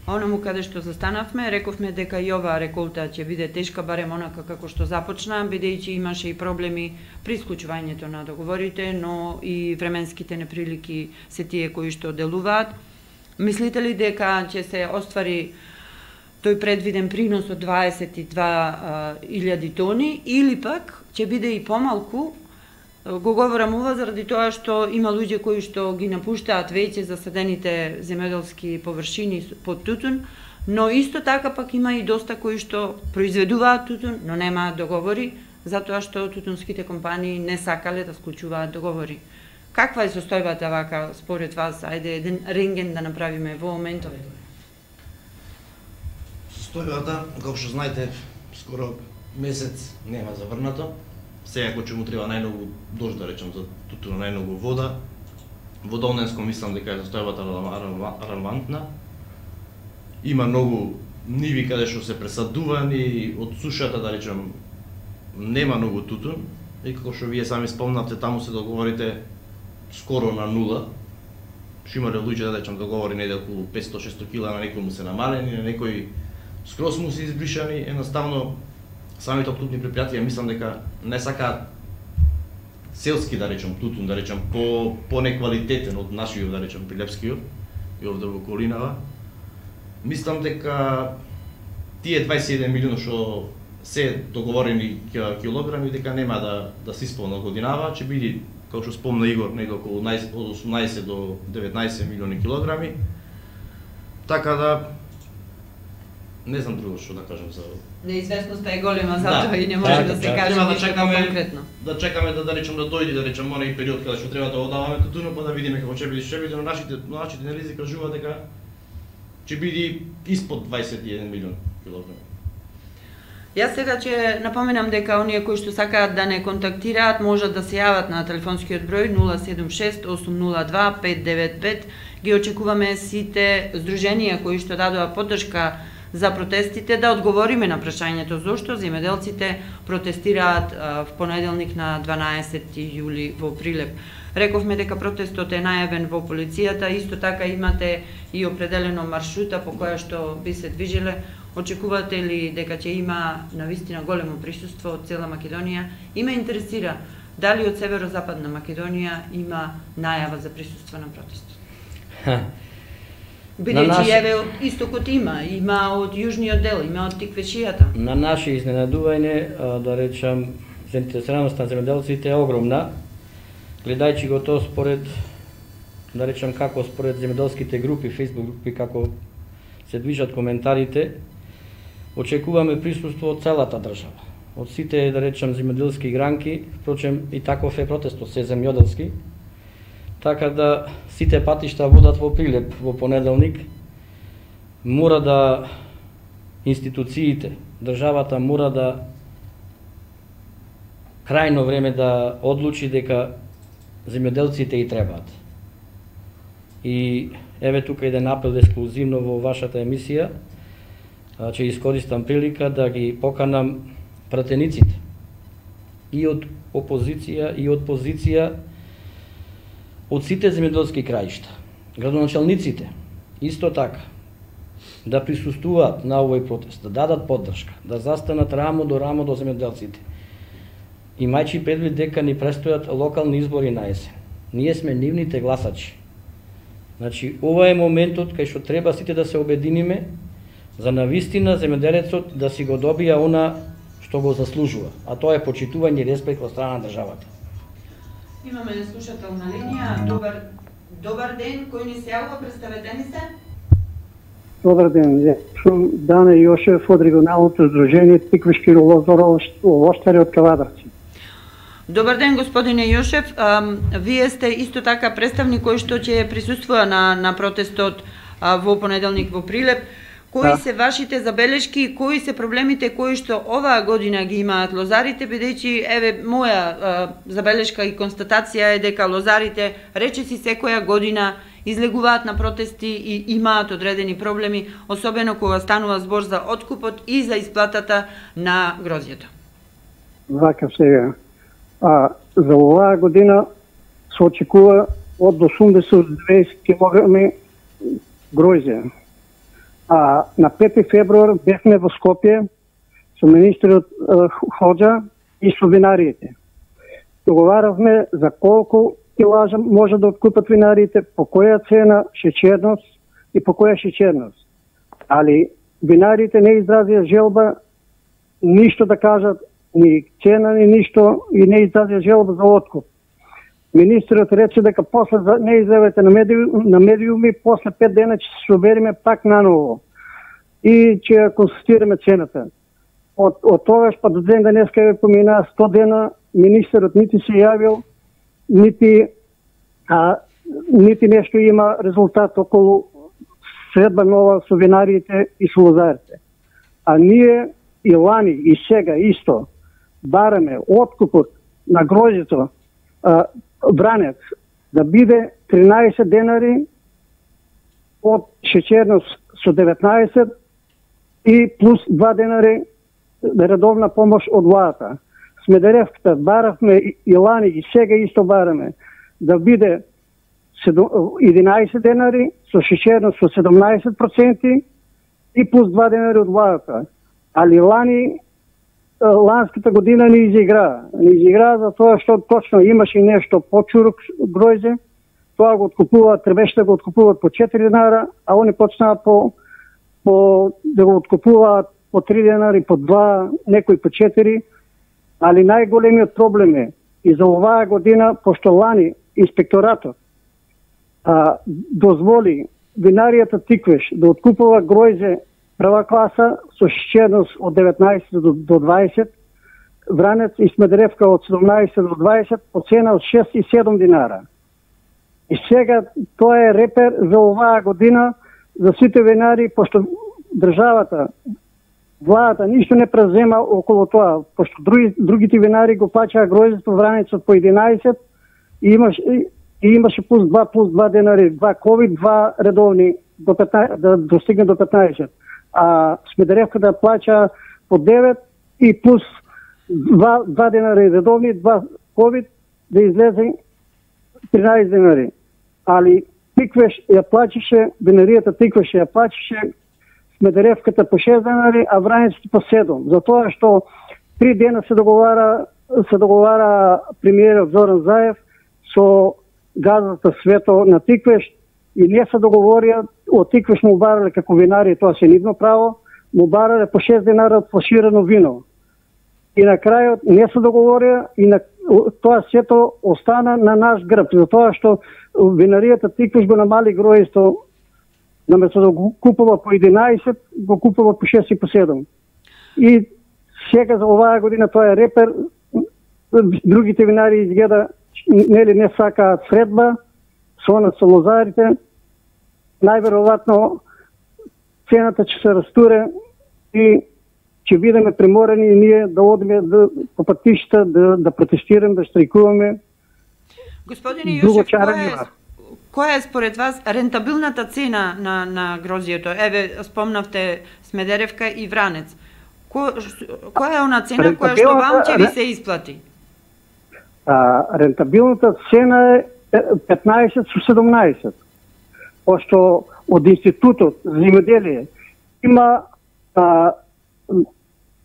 Оному каде што застанавме, рековме дека и оваа реколта ќе биде тешка, барем онака како што започна, бидејќи имаше и проблеми при склучувањето на договорите, но и временските неприлики се тие кои што делуваат. Мислите ли дека ќе се оствари тој предвиден принос од дваесет и два илјади тони, или пак ќе биде и помалку? Го говорам ова заради тоа што има луѓе кои што ги напуштаат веќе засадените земјоделски површини под тутун, но исто така пак има и доста кои што произведуваат тутун, но немаат договори, затоа што тутунските компании не сакале да склучуваат договори. Каква е состојбата вака според вас? Ајде еден рентген да направиме во моментов. Состојбата, како што знаете, скоро месец нема заврнато. Сега кој ќе му треба најмногу дожд, да речем, за тутуна најмногу вода. Во Долненско мислам дека е состојбата релевантна. Има многу ниви каде што се пресадувани од сушата, да речем, нема многу тутун. И како што вие сами спомнавте, таму се договорите скоро на нула. Што има луѓе, да речем, договори неде околу петсто-шесто кила, на некој му се намалени, на некој скроз му се избришани. Едноставно, самите откупни предпријатија мислам дека не сакаат селски, да речем, тутун, да речем, по, по неквалитетен од нашиот, да речем, Прилепскиот и овде во околинава. Мислам дека тие дваесет и еден милиона што се договорени килограми, дека нема да, да се исполнат годинава, ќе биде, како што спомна Игор, негде околу осумнаесет до деветнаесет милиони килограми. Така да, не знам друго што да кажам за... Неизвестноста е голема, затоа да, и не може да, да се каже да ништо конкретно. Да чекаме да, да речем да дојде, да речем онај период кога што треба да одаваме тутуно, па да видиме како ќе биде, ќе биде, но нашите, нашите анализи кажуваат дека ќе биде испод дваесет и еден милион килограми. Јас сега ќе напоменам дека оние кои што сакаат да не контактираат можат да се јават на телефонскиот број нула седум шест осум нула два пет девет пет. Ги очекуваме сите здруженија кои што дадоа поддршка за протестите да одговориме на прашањето зошто земјоделците протестираат в понеделник на дванаесети јули во Прилеп. Рековме дека протестот е најавен во полицијата, исто така имате и определено маршрута по која што би се движеле. Очекувате ли дека ќе има навистина големо присуство од цела Македонија? И ме интересира дали од северозападна Македонија има најава за присуство на протестот? Бидејќи еве од истокот има, има од јужниот дел, има од Тиквешијата. На наше изненадување, да речам, заинтересираноста на земјоделците е огромна. Гледајќи го тоа според, да речам, како според земјоделските групи, фејсбук групи, како се движат коментарите, очекуваме присуство од целата држава. Од сите, да речем, земјоделски гранки, впрочем и таков е протестот, се земјоделски. Така да сите патишта водат во Прилеп во понеделник. Мора да институциите, државата мора да крајно време да одлучи дека земјоделците и требаат. И еве тука еден апел ексклузивно во вашата емисија, ќе искористам прилика да ги поканам пратениците и од опозиција и од позиција од сите земјоделски краишта, градоначалниците, исто така, да присуствуваат на овој протест, да дадат поддршка, да застанат рамо до рамо до земјоделците. Имајќи предвид дека ни престојат локални избори на есен. Ние сме нивните гласачи. Значи, ова е моментот кај што треба сите да се обединиме за навистина земјоделецот да си го добија она што го заслужува, а тоа е почитување и респект од страна на државата. Имаме слушател на линија. Добар, добар ден, кој ни се јавува, представете ни се? Добар ден, сум Дане Јошев од регионалното здружение Тиквешки лозаровоштари од Кавадарци. Добар ден, господине Јошев. А, вие сте исто така представник кој што ќе присуствува на, на протестот а, во понеделник во Прилеп. Кои да. се вашите забелешки и кои се проблемите кои што оваа година ги имаат лозарите, бидејќи еве моја а, забелешка и констатација е дека лозарите речиси секоја година излегуваат на протести и имаат одредени проблеми, особено кога станува збор за откупот и за исплатата на грозјето. Вака сега. А, за оваа година се очекува од осумдесет до дваесет килограми гроздје. А на пети февруар бевме во Скопје со министерот Хоџа и со винариите. Договаравме за колку килажа може да откупат винариите, по која цена шеќерност и по која шеќерност. Али винариите не изразија желба ништо да кажат, ни цена, ни ништо, и не изразија желба за откуп. Министерот рече дека после не излевете на, медиу, на медиуми, после пет дена ќе се собериме пак наново и ќе констатираме цената. Од, од тогаш па до ден денеска ве поминаа сто дена, министерот нити се јавил, нити, а, нити нешто има резултат околу средба нова со винариите и со лозарите. А ние и лани и сега исто бараме откупот на грозето Вранец да биде тринаесет денари од шеќерност со деветнаесет и плюс два денари редовна помош од владата. Смедеревката баравме и лани и сега исто бараме да биде единаесет денари со шеќерност со седумнаесет проценти и плюс два денари од владата. Али лани ланската година не изигра. Не изигра за тоа што точно имаше нешто почурук гројзе, тоа го откупуваат, требеше да го откупуваат по четири денара, а они почнаа по, по да го откупуваат по три денари, по два, некои по четири, али најголемиот проблем е и за оваа година, пошто лани инспекторатот а, дозволи винаријата Тиквеш да откупува гројзе прва класа со шеќерност од деветнаесет до дваесет, Вранец и Смедеревка од седумнаесет до дваесет по цена од шест и седум динара. И сега тоа е репер за оваа година за сите винари, пошто државата, владата ништо не презема околу тоа, пошто други, другите винари го плаќаа гројзето Вранецот по единаесет и имаше, и имаше плюс два, плюс два денари, два ковид, два редовни до петнаесет, да достигне до петнаесет. А Смедеревка да плаќа по девет и плюс два, два денари редовни, два ковид да излезе тринаесет денари. Али Тиквеш ја плачеше, винаријата Тиквеш ја плачеше Смедеревката по шест денари, а Вранецот по седум. Затоа што три дена се договара се договара премиерот Зоран Заев со газата Свето на Тиквеш и не се договорија, од Тиквеш му барале како винари, тоа се нивно право, му барале по шест денара од флаширано вино. И на крајот не се договорија и на тоа сето остана на наш грб, затоа што винаријата Тиквеш го намали гројсто, наместо да го купува по единаесет, го купува по шест и по седум. И сега за оваа година тоа е репер, другите винари изгледа нели не сакаат средба, со она со лозарите, најверојатно цената ќе се растуре и ќе бидеме приморени и ние да одиме да, по патишта, да, да протестираме, да штрајкуваме. Господине Јусев, која е, која е според вас рентабилната цена на, на грозието? Еве, спомнавте Смедеревка и Вранец. Ко, која е она цена која што вам ќе ви се исплати? А, рентабилната цена е петнаесет со седумнаесет. Пошто од Институтот за земјоделие има а,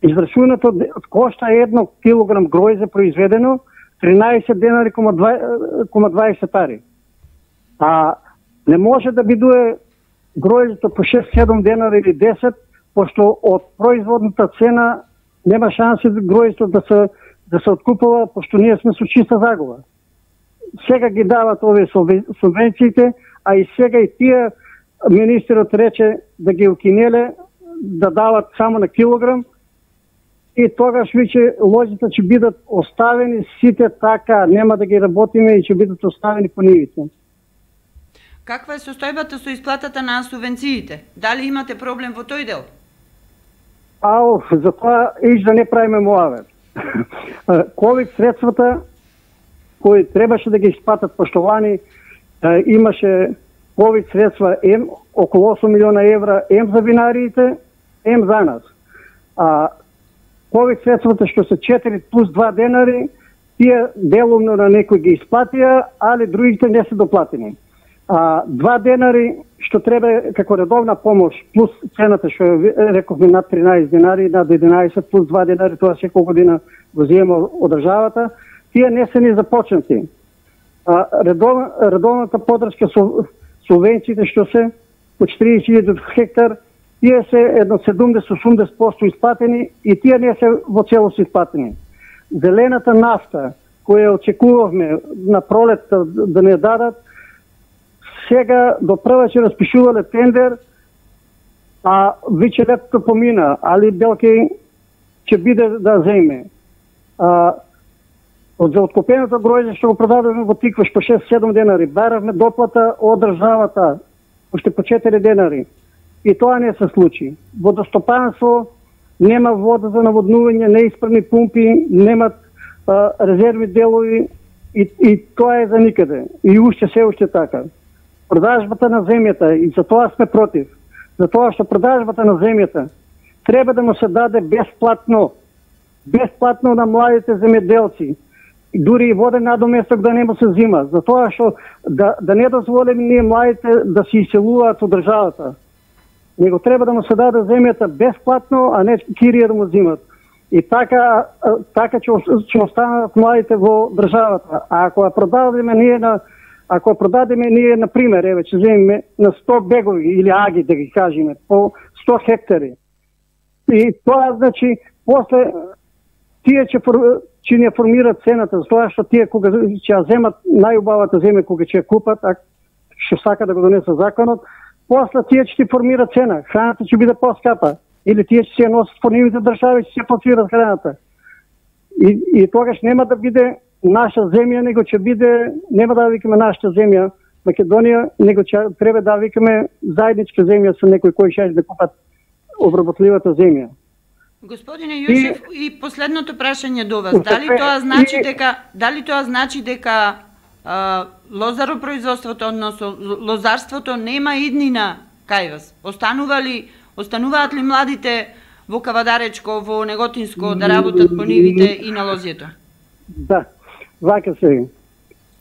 израчунато кошта едно килограм гројзе произведено тринаесет денари кома дваесет пари. А не може да бидуе гројзето по шест-седум денари или десет, пошто од производната цена нема шанси гројзето да се да се откупува, пошто ние сме со чиста загуба. Сега ги дават овие субвенциите, а и сега и тие министерот рече да ги укинеле, да дават само на килограм, и тогаш веќе лозите ќе бидат оставени сите така, нема да ги работиме и ќе бидат оставени по нивите. Каква е состојбата со исплатата на субвенциите? Дали имате проблем во тој дел? Ау, затоа иш да не правиме муавет. Ковид средствата кои требаше да ги исплатат поштовани, имаше ковид средства ем околу осум милиона евра, ем за винариите, ем за нас. А ковид средствата што се четири плюс два денари, тие делумно на некои ги исплатија, али другите не се доплатени. А два денари што треба како редовна помош, плюс цената што рековме над тринаесет денари, над единаесет плюс два денари, тоа секоја година го зема од државата, тие не се ни започнати. А редов, редовната подршка со субвенциите што се по четиридесет илјади хектар, тие се едно седумдесет до осумдесет проценти исплатени и тие не се во целост исплатени. Зелената нафта која очекувавме на пролетта да не дадат, сега до прва ќе распишувале тендер, а веќе летото помина, али Белки ќе биде да земе. А, од за откупеното гројзе што го продадовме во Тиквеш по шест-седум денари, баравме доплата од државата уште по четири денари. И тоа не се случи. Водостопанство нема вода за наводнување, неисправни пумпи, немат а, резервни делови и, и тоа е за никаде. И уште се уште така. Продажбата на земјата, и за тоа сме против, за тоа што продажбата на земјата треба да му се даде бесплатно, бесплатно на младите земјоделци. Дури и воден надоместок да не му се зима, за тоа што да, да не дозволиме ние младите да се иселуваат од државата. Него треба да му се даде земјата бесплатно, а не кирија да му зимат. И така, така ќе, ќе останат младите во државата. А ако ја продадеме ние на ако ја продадеме ние на пример, еве ќе земеме на сто бегови или аги да ги кажеме, по сто хектари. И тоа значи после тие ќе ќе не формираат цената, затоа што тие кога ќе ја земат најубавата земја кога ќе ја купат, а што сака да го донесе законот, после тие ќе ти формираат цена, храната ќе биде поскапа, или тие ќе се носат по нивните држави, ќе се пласират храната. И, и тогаш нема да биде наша земја, него ќе биде, нема да викаме нашата земја Македонија, него ќе треба да викаме заедничка земја со некој кој ќе да купат обработливата земја. Господине Јушев, и, и последното прашање до вас, дали тоа значи дека дали тоа значи дека а, лозаропроизводството, односно лозарството нема иднина кај вас? Останува ли, остануваат ли младите во Кавадаречко, во Неготинско да работат по нивите и на лозјето? Да, вака се.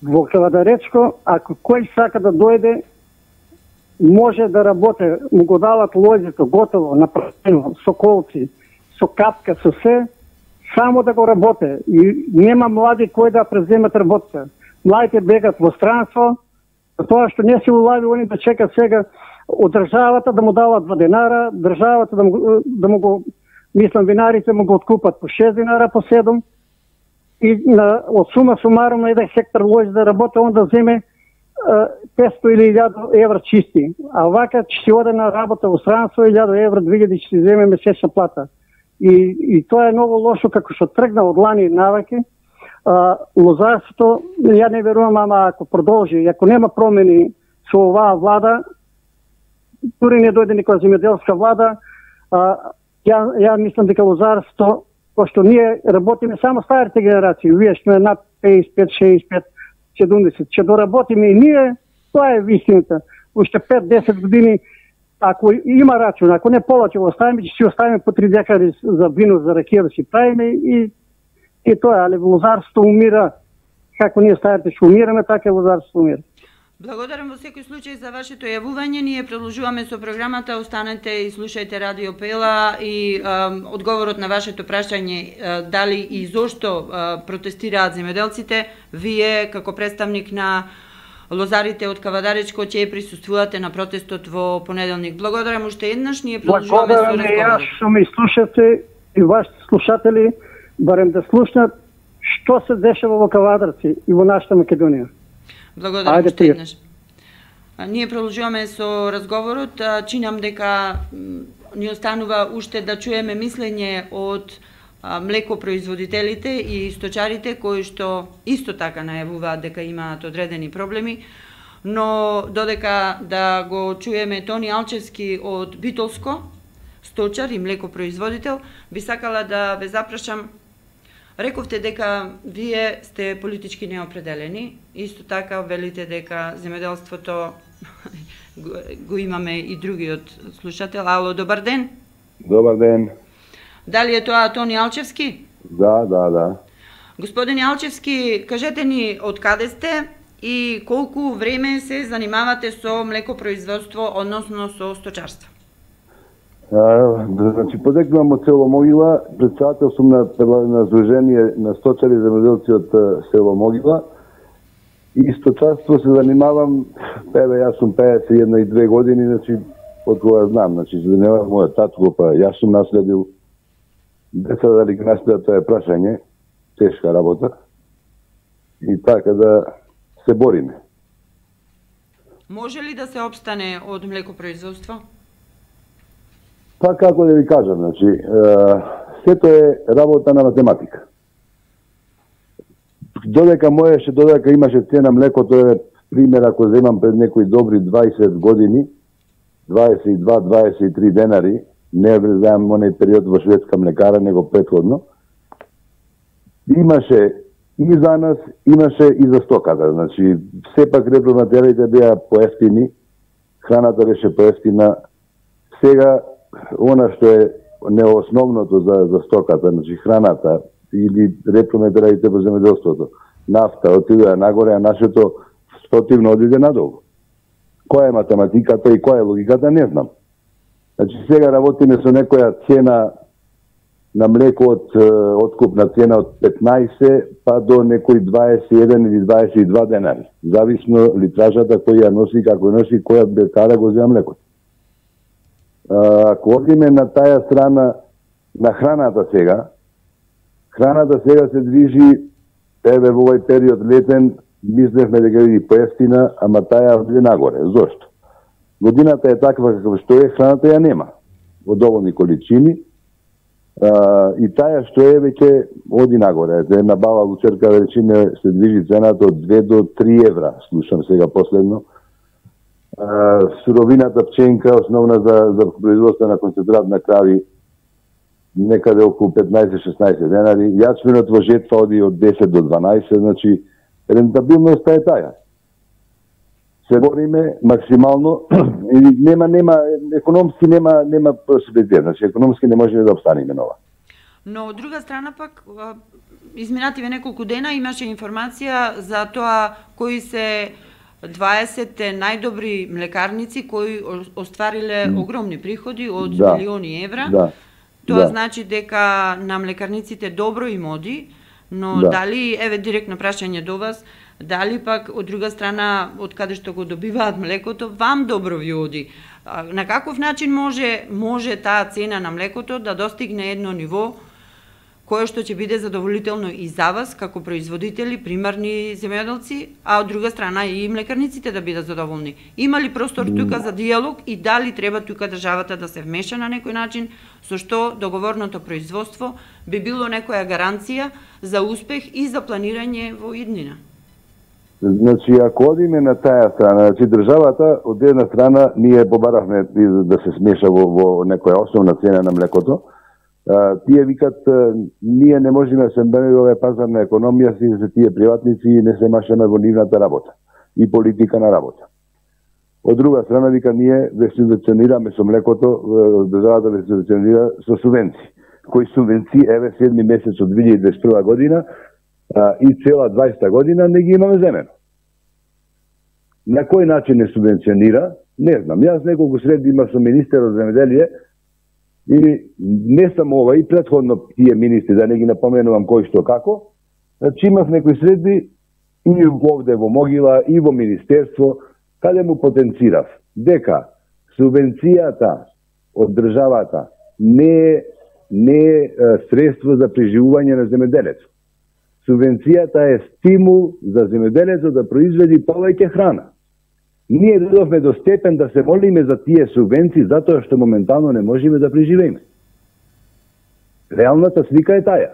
Во Кавадаречко, ако кој сака да дојде, може да работи, му го дават лозјето готово, направено, со колци, со капка, со се, само да го работе. И нема млади кои да преземат работка. Младите бегат во странство, тоа што не се улави они да чекат сега од државата да му дават два денара, државата да му, да му го, мислам, винарите му го откупат по шест денара, по седум, и на, од сума сумарум на еден хектар лози да работи, он да земе петстотини или илјада евра чисти. А вака ќе си оде на работа во странство, илјада евра, две илјади ќе си земе месечна плата. И, и тоа е многу лошо како што тргна од лани навеќе. Лозарството, ја не верувам, ама ако продолжи, и ако нема промени со оваа влада, дури не дојде никоја земјоделска влада, а, ја, ја мислам дека лозарството, пошто ние работиме само старите генерации, вие што е над петдесет и пет, шеесет и пет, седумдесет, ќе доработиме и ние, тоа е вистината. Уште пет-десет години, ако има рачун, ако не повеќе го оставиме, ќе си оставиме по три декари за вино, за ракија да си правиме и, и тоа, али лозарството умира, како ние старите што умираме, така и лозарството умира. Благодарам во секој случај за вашето јавување. Ние продолжуваме со програмата. Останете и слушајте Радио Пела и а, одговорот на вашето прашање а, дали и зошто а, протестираат земјоделците. Вие како представник на лозарите од Кавадаречко ќе присуствувате на протестот во понеделник. Благодарам уште еднаш. Ние продолжуваме со разговорот. Благодарам и јас што ме слушате и вашите слушатели, барем да слушнат што се дешава во Кавадарци и во нашата Македонија. Благодарам уште еднаш. Ние продолжуваме со разговорот. Чинам дека ни останува уште да чуеме мислење од млекопроизводителите и сточарите кои што исто така најавуваат дека имаат одредени проблеми, но додека да го чуеме Тони Алчевски од Битолско, сточар и млекопроизводител, би сакала да ве запрашам. Рековте дека вие сте политички неопределени, исто така велите дека земјоделството го имаме и другиот слушател. Ало, добар ден. Добар ден. Дали е тоа Тони Алчевски? Да, да, да. Господин Алчевски, кажете ни од каде сте и колку време се занимавате со млекопроизводство, односно со сточарство? А, значи, подекнувам од село Могила, председател сум на, на Сдружение на сточари и земјоделци од село Могила и сточарство се занимавам, еве јас сум пеесет и една и две години, значи, од кога знам, значи, се занимавам мојот татко, па јас сум наследил. Деца дали ги наследат, тоа е прашање, тешка работа и така да се бориме. Може ли да се обстане од млекопроизводство? Па како да ви кажам, значи, е, сето е работа на математика. Додека можеше, додека имаше цена млекото, е пример, ако земам пред некои добри дваесет години, дваесет и два до дваесет и три денари, не врезаем оној период во шведска млекара, него претходно, имаше и за нас, имаше и за стоката. Значи, сепак репродуктивите беа поевтини, храната беше поевтина. Сега, она што е неосновното за, за стоката, значи храната или репродуктивите во земјоделството, нафта отидува нагоре, а нашето спротивно одиде надолу. Која е математиката и која е логиката, не знам. Значи, сега работиме со некоја цена на млеко од откупна цена од петнаесет па до некои дваесет и еден или дваесет и два денари. Зависно литражата кој ја носи, како носи, која бекара го зема млекото. Ако одиме на таја страна на храната сега, храната сега се движи, еве во овој период летен, мислевме дека биде поевтина, ама таја оди нагоре. Зошто? Годината е таква каква што е, храната ја нема во доволни количини, а, и таја што е веќе оди нагоре. Една бала луцерка речиме се движи цената од две до три евра, слушам сега последно. А, суровината пченка, основна за, за производство на концентрат на крави, некаде околу петнаесет-шеснаесет денари. Јачменот во жетва оди од десет до дванаесет, значи рентабилноста е таја. Се бориме максимално и нема нема економски нема нема просперитет, значи економски не можеме да обстанеме нова. Но од друга страна пак изминативе неколку дена имаше информација за тоа кои се дваесет најдобри млекарници кои оствариле огромни приходи од да, милиони евра. Да, Тоа да. значи дека на млекарниците добро им оди, но да. дали, еве директно прашање до вас, дали пак од друга страна, од каде што го добиваат млекото, вам добро ви оди? На каков начин може може таа цена на млекото да достигне едно ниво кое што ќе биде задоволително и за вас како производители, примарни земјоделци, а од друга страна и млекарниците да бидат задоволни? Има ли простор тука за диалог и дали треба тука државата да се вмеша на некој начин, со што договорното производство би било некоја гаранција за успех и за планирање во иднина? Значи, ако одиме на таја страна, значи државата, од една страна, ние побаравме да се смеша во, во некоја основна цена на млекото. А, тие викат, ние не можеме да се бавиме во пазарна економија, си за тие приватници и не се машеме во нивната работа и политика на работа. Од друга страна, вика, ние ве субвенционираме со млекото, државата ве субвенционира со субвенции. Кои субвенции, еве, седми месец од две илјади и дваесет и прва година, А, и цела дваесета година не ги имаме земено. На кој начин не субвенционира, не знам. Јас неколку среди имав со министер од земјоделие и не само ова, и претходно тие министри, да не ги напоменувам кој што како, значи имав некои среди и овде во Могила, и во министерство, каде му потенцирав дека субвенцијата од државата не е, не е средство за преживување на земјоделецот. Субвенцијата е стимул за земјоделецот да произведи повеќе храна. Ние додовме до степен да се молиме за тие субвенции затоа што моментално не можеме да преживееме. Реалната слика е таја.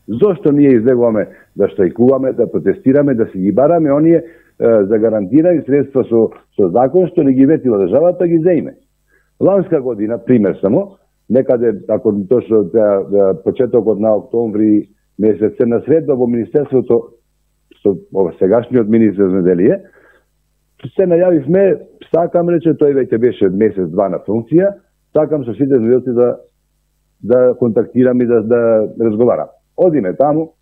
Зошто ние излегуваме да штрајкуваме, да протестираме, да се ги бараме оние е, за гарантирани средства со, со закон што не ги ветила државата, ги зеиме. Ланска година, пример само, некаде, ако точно почетокот на октомври месец на средба во Министерството, со сегашниот министер за земјоделие, се најавивме, сакам рече, тој веќе беше месец-два на функција, сакам со сите земјоделци да, да контактирам и да, да разговарам. Одиме таму,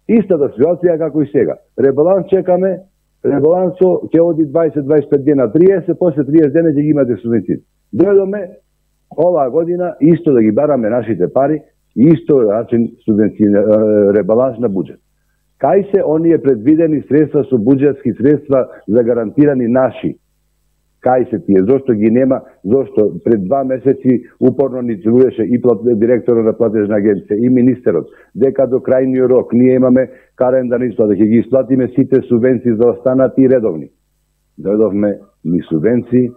истата ситуација како и сега. Ребаланс чекаме, ребалансо ќе оди дваесет до дваесет и пет дена, триесет, после триесет дена ќе ги имате субвенции. Дојдоме оваа година исто да ги бараме нашите пари, исто начин субвенција ребаланс на буџет. Кај се оние предвидени средства со буџетски средства за гарантирани наши? Кај се тие? Зошто ги нема? Зошто пред два месеци упорно ни целуваше и директорот на платежна агенција и министерот дека до крајниот рок ние имаме календар исплата, ќе ги исплатиме сите субвенции за останати и редовни. Дојдовме ни субвенции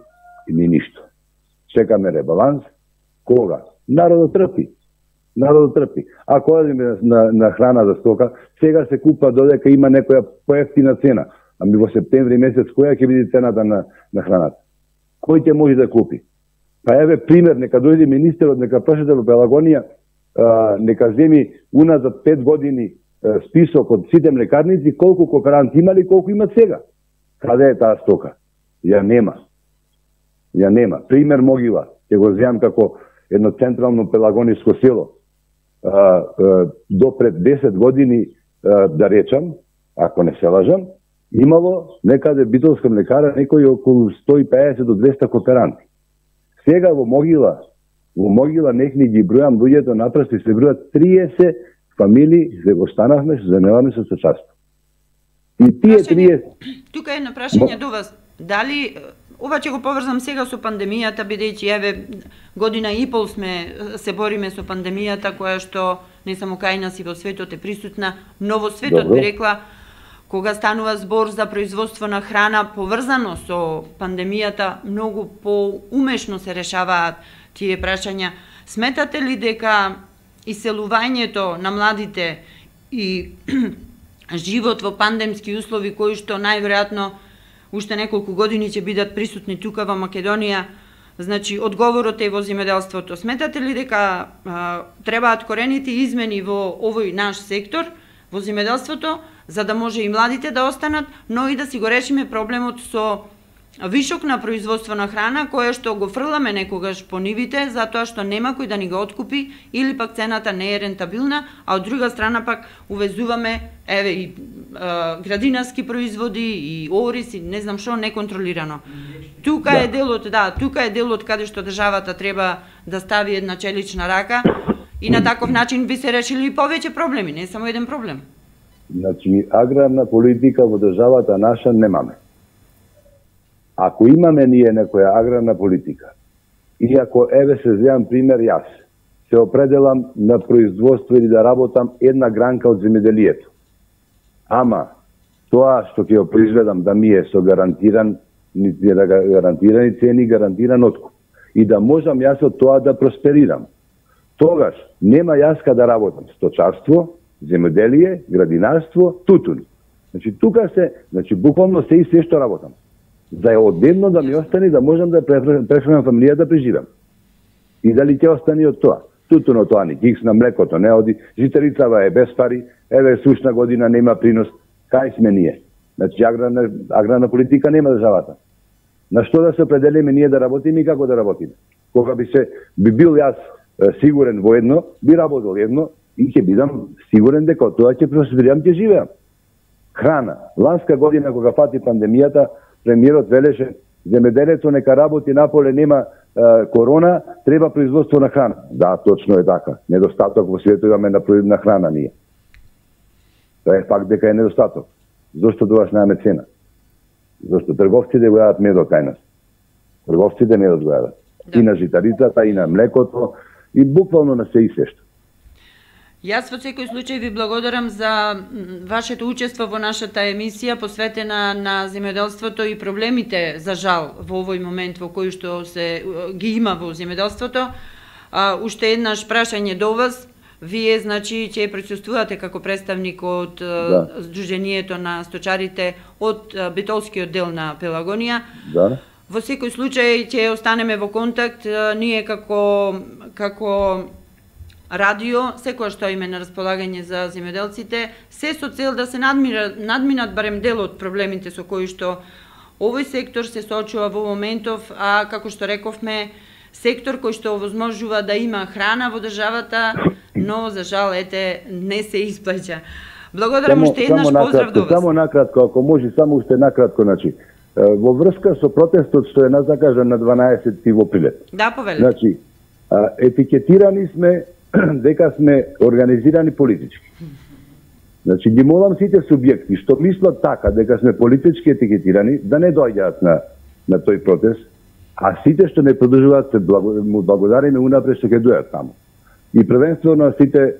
ни ништо. Чекаме ребаланс. Кога? Народот трпи. Народот трпи. Ако одиме на, на, на храна за стока, сега се купа додека има некоја поевтина цена. Ами во септември месец која ќе биде цената на, на храната? Кој ќе може да купи? Па еве пример, нека дојде министерот, нека прашате во Пелагонија, а, нека земи уназад пет години а, список од сите млекарници, колку кооперанти имали, колку имат сега. Каде е таа стока? Ја нема. Ја нема. Пример Могила, ќе го земам како едно централно пелагониско село. А, а, до пред десет години, а, да речам, ако не се лажам, имало некаде битолска млекара некои околу сто и педесет до двеста кооперанти. Сега во Могила, во Могила нехни ги бројам луѓето напрасти, се бројат триесет фамилии, се останавме, се занимаваме со стачарство. И тие триесет... Тука е едно прашање до вас. Дали, ова ќе го поврзам сега со пандемијата, бидејќи еве година и пол сме се бориме со пандемијата, која што не само кај нас и во светот е присутна, но во светот би рекла, кога станува збор за производство на храна поврзано со пандемијата, многу поумешно се решаваат тие прашања. Сметате ли дека иселувањето на младите и живот во пандемски услови, кои што најверојатно уште неколку години ќе бидат присутни тука во Македонија, значи одговорот е во земјоделството. Сметате ли дека а, требаат корените измени во овој наш сектор, во земјоделството, за да може и младите да останат, но и да си го решиме проблемот со вишок на производство на храна, кое што го фрламе некогаш по нивите, затоа што нема кој да ни го откупи, или пак цената не е рентабилна, а од друга страна пак увезуваме еве и а, градинарски производи и ориз и не знам што неконтролирано. Тука да. е делот, да, тука е делот каде што државата треба да стави една челична рака и на таков начин би се решили и повеќе проблеми, не само еден проблем. Значи, аграрна политика во државата наша немаме. Ако имаме ние некоја аграрна политика, и ако, еве се земам пример јас, се определам на производство или да работам една гранка од земјоделието. Ама, тоа што ќе го произведам да ми е со гарантиран, да гарантирани цени, гарантиран откуп. И да можам јас од тоа да просперирам. Тогаш, нема јас каде да работам. Сточарство, земјоделие, градинарство, тутун. Значи, тука се, значи, буквално се и се што работам. За одедно да ми остане да можам да прехранам фамилија да преживам. И дали ќе остане од тоа? Тутуно тоа ни киксна, млекото не оди, житарицава е без пари, еве сушна година нема принос. Кај сме ние? Значи, аграрна, аграрна политика нема државата. На што да се определиме ние да работиме и како да работиме? Кога би се би бил јас сигурен во едно, би работел едно и ќе бидам сигурен дека од тоа ќе просперирам, ќе живеам. Храна. Ланска година кога фати пандемијата, премиерот велеше земјоделието нека работи наполе, нема е, корона, треба производство на храна. Да, точно е така. Недостаток во светот имаме на производство на храна ние. Тоа е факт дека е недостаток. Зошто тогаш немаме цена? Зошто трговците го јадат медот кај нас. Трговците медот го јадат. Да. И на житарицата, и на млекото, и буквално на се и сешто. Јас во секој случај ви благодарам за вашето учество во нашата емисија посветена на земјоделството и проблемите, за жал, во овој момент во кој што се ги има во земјоделството. А, уште еднаш прашање до вас. Вие, значи, ќе присуствувате како представник од да. Сдруженијето на сточарите од Битолскиот дел на Пелагонија. Да. Во секој случај ќе останеме во контакт, ние како како радио, секоја што име на располагање за земјоделците, се со цел да се надминат, надминат барем дел од проблемите со кои што овој сектор се соочува во моментов, а како што рековме, сектор кој што овозможува да има храна во државата, но за жал ете не се исплаќа. Благодарам уште еднаш, поздрав до вас. Само накратко, ако може, само уште накратко, значи, во врска со протестот што е нас закажан на дванаесети во Прилеп. Да, повеле. Значи, етикетирани сме дека сме организирани политички. Значи, ги молам сите субјекти што мислат така дека сме политички етикетирани, да не доаѓаат на, на тој протест, а сите што не продолжуваат се му благодариме унапред што ќе дојдат таму. И првенствено сите е,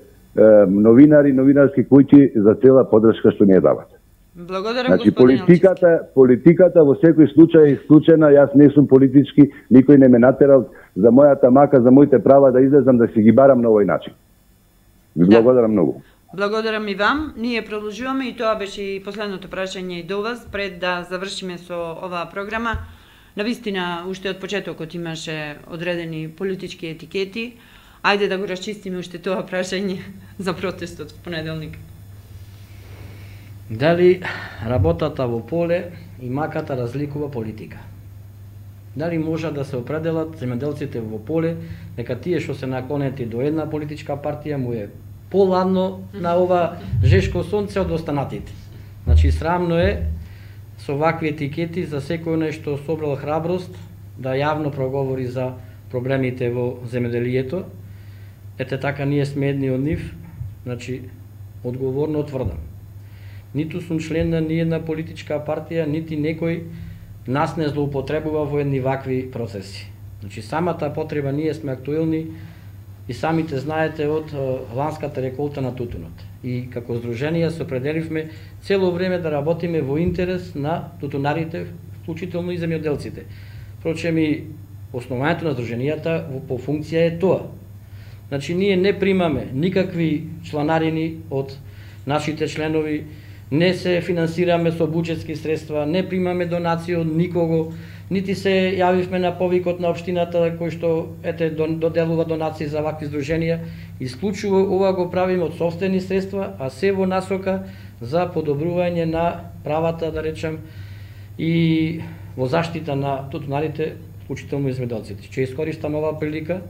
новинари, новинарски куќи за цела поддршка што не ја дават. Благодарам, значи, господин политиката, политиката во секој случај е исклучена, јас не сум политички, никој не ме натерал за мојата мака, за моите права да излезам да си ги барам на овој начин. Ви да. Благодарам многу. Благодарам и вам. Ние продолжуваме и тоа беше и последното прашање и до вас, пред да завршиме со оваа програма. Навистина, уште од почетокот имаше одредени политички етикети. Ајде да го расчистиме уште тоа прашање за протестот в понеделник. Дали работата во поле и маката разликува политика? Дали може да се определат земјоделците во поле дека тие што се наклонети до една политичка партија му е поладно на ова жешко сонце од останатите? Значи, срамно е со вакви етикети за секој нешто собрал храброст да јавно проговори за проблемите во земјоделието. Ете така ние сме едни од нив, значи, одговорно тврдам. Ниту сум член на ниедна политичка партија, нити некој нас не злоупотребува во едни вакви процеси. Значи, самата потреба, ние сме актуелни и самите знаете од ланската реколта на тутунот. И како здруженија се определивме цело време да работиме во интерес на тутунарите, вклучително и земјоделците. Впрочем, и основањето на здруженијата по функција е тоа. Значи, ние не примаме никакви чланарини од нашите членови, не се финансираме со буџетски средства, не примаме донации од никого, нити се јавивме на повикот на општината кој што ете доделува донации за вакви здруженија. Исклучиво ова го правиме од сопствени средства, а се во насока за подобрување на правата, да речем, и во заштита на тутунарите, вклучително и земјоделците. Ќе искористам оваа прилика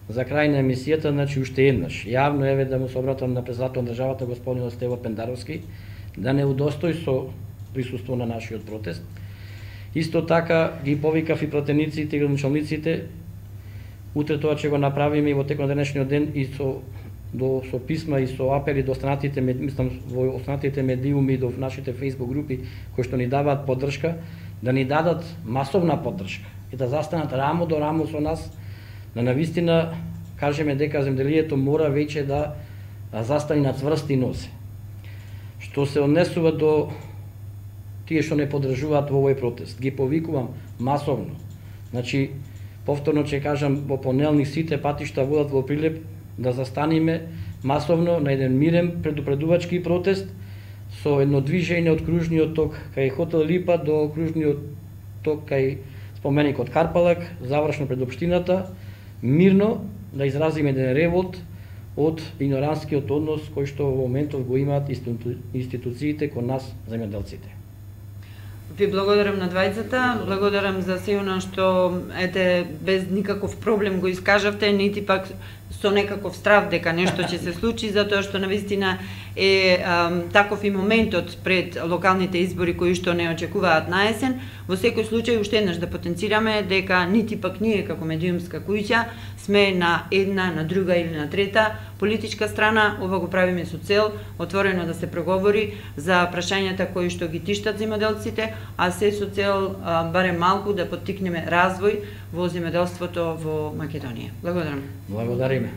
за крај на емисијата, значи уште еднаш. Јавно еве да му се обратам на председател на државата господин Стево Пендаровски да не удостои со присуство на нашиот протест. Исто така ги повикав и пратениците и градоначалниците. Утре тоа ќе го направиме и во текот на денешниот ден и со до со писма и со апели до останатите, мислам во останатите медиуми и до нашите фејсбук групи кои што ни даваат поддршка, да ни дадат масовна поддршка и да застанат рамо до рамо со нас, да навистина кажеме дека земјоделието мора веќе да застани на цврсти нозе. Што се однесува до тие што не поддржуваат во овој протест, ги повикувам масовно. Значи, повторно ќе кажам, во понеделник сите патишта водат во Прилеп да застаниме масовно на еден мирен предупредувачки протест со едно движење од кружниот ток кај хотел Липа до кружниот ток кај споменикот Карпалак, завршно пред општината, мирно да изразиме еден револт од игноранскиот однос кој што во моментов го имаат институциите кон нас, земјоделците. Ви благодарам на двајцата, благодарам за се она што ете без никаков проблем го искажавте, нити пак со некаков страв дека нешто ќе се случи, затоа што навистина е ам, таков и моментот пред локалните избори кои што не очекуваат на есен. Во секој случај уште еднаш да потенцираме дека нити пак ние како медиумска куќа сме на една, на друга или на трета политичка страна. Ова го правиме со цел отворено да се проговори за прашањата кои што ги тиштат земјоделците, а се со цел а, барем малку да поттикнеме развој во земјоделството во Македонија. Благодарам. Благодариме.